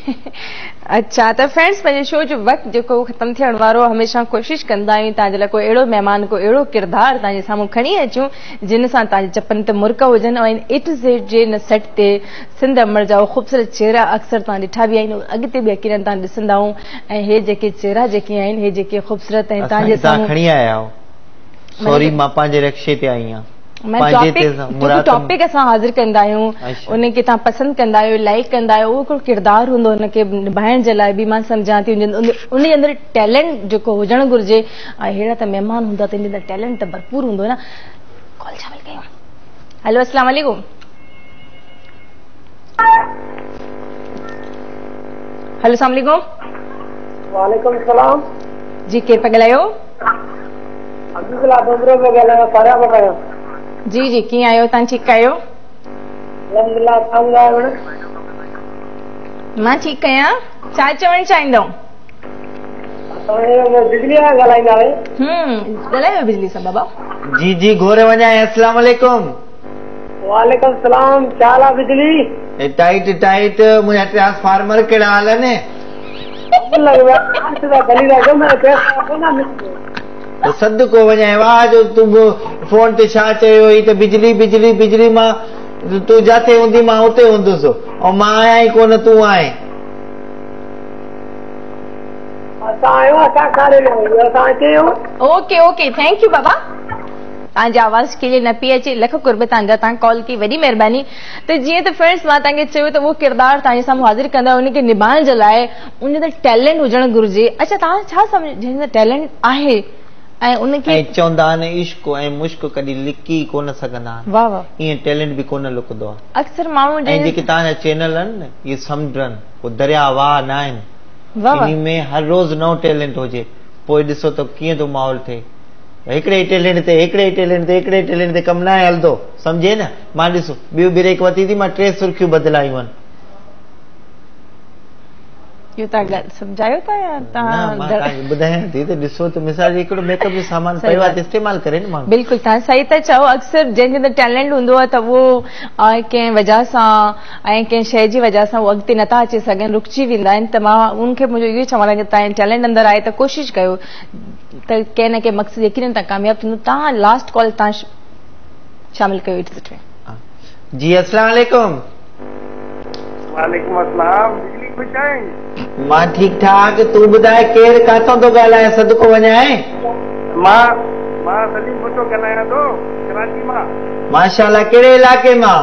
अच्छा, त फ्रेंड्स पंहिंजे शो जो वक़्तु जेको ख़तमु थियण वारो, हमेशा कोशिशि कंदा आहियूं तव्हांजे लाइ को अहिड़ो महिमान, को अहिड़ो किरदारु तव्हांजे साम्हूं खणी अचूं जिन सां तव्हांजे चपनि ते मुर्क हुजनि। ऐं ए टू ज़ेड जे हिन सेट ते सिंध अमर जा ख़ूबसूरत चेहरा अक्सर तव्हां ॾिठा बि आहिनि, अॻिते बि यकीनन तव्हां ॾिसंदा आहियूं। ऐं हे जेके चेहरा जेके आहिनि, हे जेके ख़ूबसूरत आहिनि तव्हांजे साम्हूं खणी आया आहियो। सॉरी, मां पंहिंजे रिक्शे ते आई आहियां। टॉपिक असां हाज़िर कंदा आहियूं, उनखे तव्हां पसंदि कंदा आहियो, लाइक कंदा आहियो, उहो हिकिड़ो किरदारु हूंदो हुनखे निभाइण जे लाइ बि मां सम्झां थी उन जे अंदरि टैलेंट जेको हुजणु घुरिजे। ऐं अहिड़ा त महिमान हूंदा त अंदरि टैलेंट त भरपूर हूंदो न। कॉल शामिल कयूं। हेलो, अस्सलाम वालेकुम। हेलो, अस्सलाम वालेकुम। वालेकुम सलाम। जी, केरु पिया ॻाल्हायो? जी जी, कीअं आहियो तव्हां? ठीकु आहियो? अल्हम्दुलिल्लाह, तव्हां ॿुधायो भेण? मां ठीकु आहियां। छा चवणु चाहींदव? बिजली सां ॻाल्हाईंदा आहियो? हम्म, ॻाल्हायो बिजली सां बाबा। जी जी, घोरे वञा। अस्सलाम वालेकुम। वालेकुम सलाम। छा हाल आहे बिजली? टाइट टाइट, मुंहिंजा ट्रांसफार्मर कहिड़ा हलनि? सदको वञाए वाह जो तूं फोन ते छा चयो हुई त बिजली बिजली बिजली, मां तूं जाथे हूंदी मां उते हूंदुसि, ऐं मां आहियां ई कोन, तूं आहे। Okay okay, thank you Baba. तव्हांजी आवाज़ क्लियर न पई अचे, लख क़ुर्ब तव्हांजा, तव्हां कॉल कई, वॾी महिरबानी। त जीअं त फ्रेंड्स मां तव्हांखे चयो त उहो किरदारु तव्हांजे साम्हूं हाज़िर कंदा, उनखे निभाइण जे लाइ उन जे टैलेंट हुजणु घुरिजे। अच्छा, तव्हां छा सम्झो जंहिंजो टैलेंट आहे ऐं उनखे ऐं चवंदा आहिनि इश्क ऐं मुश्क कॾहिं लिकी कोन सघंदा आहिनि। वाह वाह, ईअं टैलेंट बि कोन लुकंदो आहे। अक्सर माण्हू ऐं जेके तव्हांजा चैनल आहिनि न, इहे समुंड आहिनि, उहे दरिया वाह न आहिनि। इन में हर रोज़ नओं टैलेंट हुजे, पोइ ॾिसो त कीअं थो माहौल थिए। हिकिड़े ई टैलेंट ते, हिकिड़े ई टैलेंट ते, हिकिड़े ई टैलेंट ते कमु न आहे हलंदो, सम्झे न। मां ॾिसो ॿियो ब्रेक वरिती थी, मां टे सुर्खियूं बदिलायूं आहिनि। इहो तव्हां ॻाल्हि सम्झायो था या तव्हां? ॿुधायां थी त ॾिसो त मिसाल हिकिड़ो मेकअप जो सामान पियो आहे त इस्तेमालु करे न माण्हू। बिल्कुलु, तव्हां सही था चओ। अक्सर जंहिंजे अंदरि टैलेंट हूंदो आहे त उहो कंहिं वजह सां ऐं कंहिं शइ जी वजह सां उहो अॻिते नथा अची सघनि, रुकिजी वेंदा आहिनि। त मां उनखे मुंहिंजो इहो चवणु आहे की तव्हांजो टैलेंट अंदरि आहे त कोशिशि कयो त कंहिं न कंहिं मक़सद यकीनन तव्हां कामयाबु थींदो। तव्हां लास्ट कॉल तव्हां शामिल कयो it. जी, अस्सलाम वालेकुम। वालेकुम अस्सलाम। बिजली ख़ुशि आहीं? मां ठीकु ठाक, तूं ॿुधाए केरु, काथां थो ॻाल्हाए? सदको वञाए? मां मां सलीम भुट्टो ॻाल्हायां थो, कराची मां। माशाअल्लाह, कहिड़े इलाइक़े मां?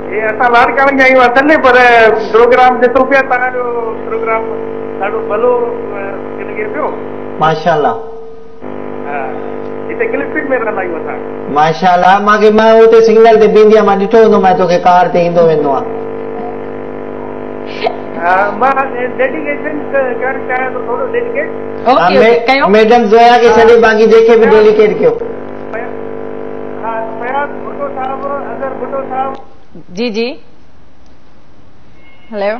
हे असां लाड़काणे जा आहियूं असल में, पर प्रोग्राम ॾिसूं पिया, तव्हांजो प्रोग्राम ॾाढो भलो लॻे पियो। माशाअल्लाह। हा, हिते क्लिफटन में रहंदा आहियूं असां। माशाअल्लाह, मूंखे मां उते सिग्नल ते बीहंदी आहियां, मां ॾिठो हूंदो, मां तोखे कार ते ईंदो वेंदो आहियां। मां डेडिकेशन करणु चाहियां थो, थोरो डेडिकेट। ओके, मैडम ज़ोया खे छॾे, बाक़ी जंहिंखे बि डेडिकेट कयो। हा, फयाज़ भुट्टो साहिबु, अज़हर भुट्टो साहिबु। जी जी, hello,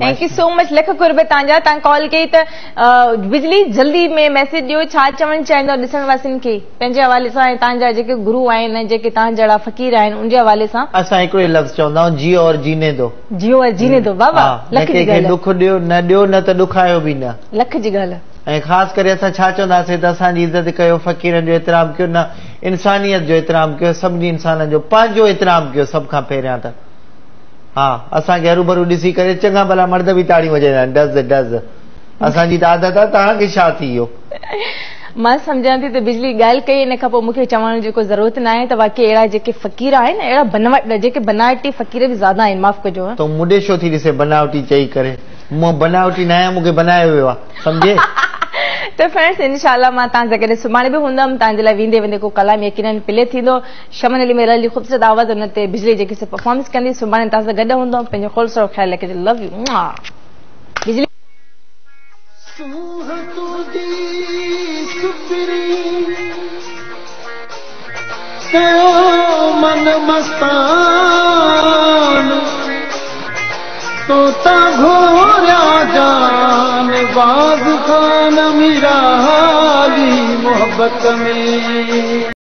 thank you so much, lakh क़ुर्ब तव्हांजा, तव्हां कॉल कई त बिजली जल्दी में मैसेज ॾियो, छा चवणु चाहींदो ॾिसण वासियुनि खे पंहिंजे हवाले सां ऐं तव्हांजा जेके गुरू आहिनि ऐं जेके तव्हां जहिड़ा फ़क़ीर आहिनि उनजे हवाले सां? असां हिकिड़ो ई लफ़्ज़ चवंदा आहियूं, जियो और जीने दो। जियो और जीने दो, वाह वाह, लख जी ॻाल्हि। ॾुख ॾियो न ॾियो, न त ॾुखायो बि न, लख जी ॻाल्हि। ऐं ख़ासि करे असां छा चवंदासीं त असांजी इज़त कयो, फ़क़ीरनि जो एतिराम कयो, न इंसानियत जो एतिराम कयो, सभिनी इंसाननि जो पंहिंजो एतिराम कयो सभ खां पहिरियां त। हा, असांखे हरू भरू ॾिसी करे चङा भला मर्द बि ताड़ियूं वॼाईंदा आहिनि, डज़ डज़। असांजी त आदत आहे, तव्हांखे छा थी वियो? मां सम्झां थी त बिजली ॻाल्हि कई, इन खां पोइ मूंखे चवण जी को ज़रूरत न आहे त वाकई अहिड़ा जेके फ़क़ीर आहिनि, अहिड़ा बनवट जेके बनावटी फ़क़ीर बि ज़्यादा आहिनि, माफ़ कजो। तूं मूं ॾे छो थी ॾिसे बनावटी चई करे? मां बनावटी न आहियां, मूंखे बनायो वियो आहे, सम्झे? त फ्रेंड्स, इंशाअल्लाह मां तव्हां सां गॾु सुभाणे बि हूंदमि। तव्हांजे लाइ वेंदे वेंदे को कलाम यकीनन प्ले थींदो। शमन अली मेहर जी ख़ूबसूरत आवाज़, उन ते बिजली जेकी परफॉर्मेंस कंदी। सुभाणे तव्हां सां गॾु हूंदमि। पंहिंजो ख़ुशि ख़्यालु रखिजो। लव you बिजली। सूंहं तुंहिंजी सुपरी कयो मन मस्तान, तोता घोरिया जान बाज़ खान मीरा हाली मोहब्बत में।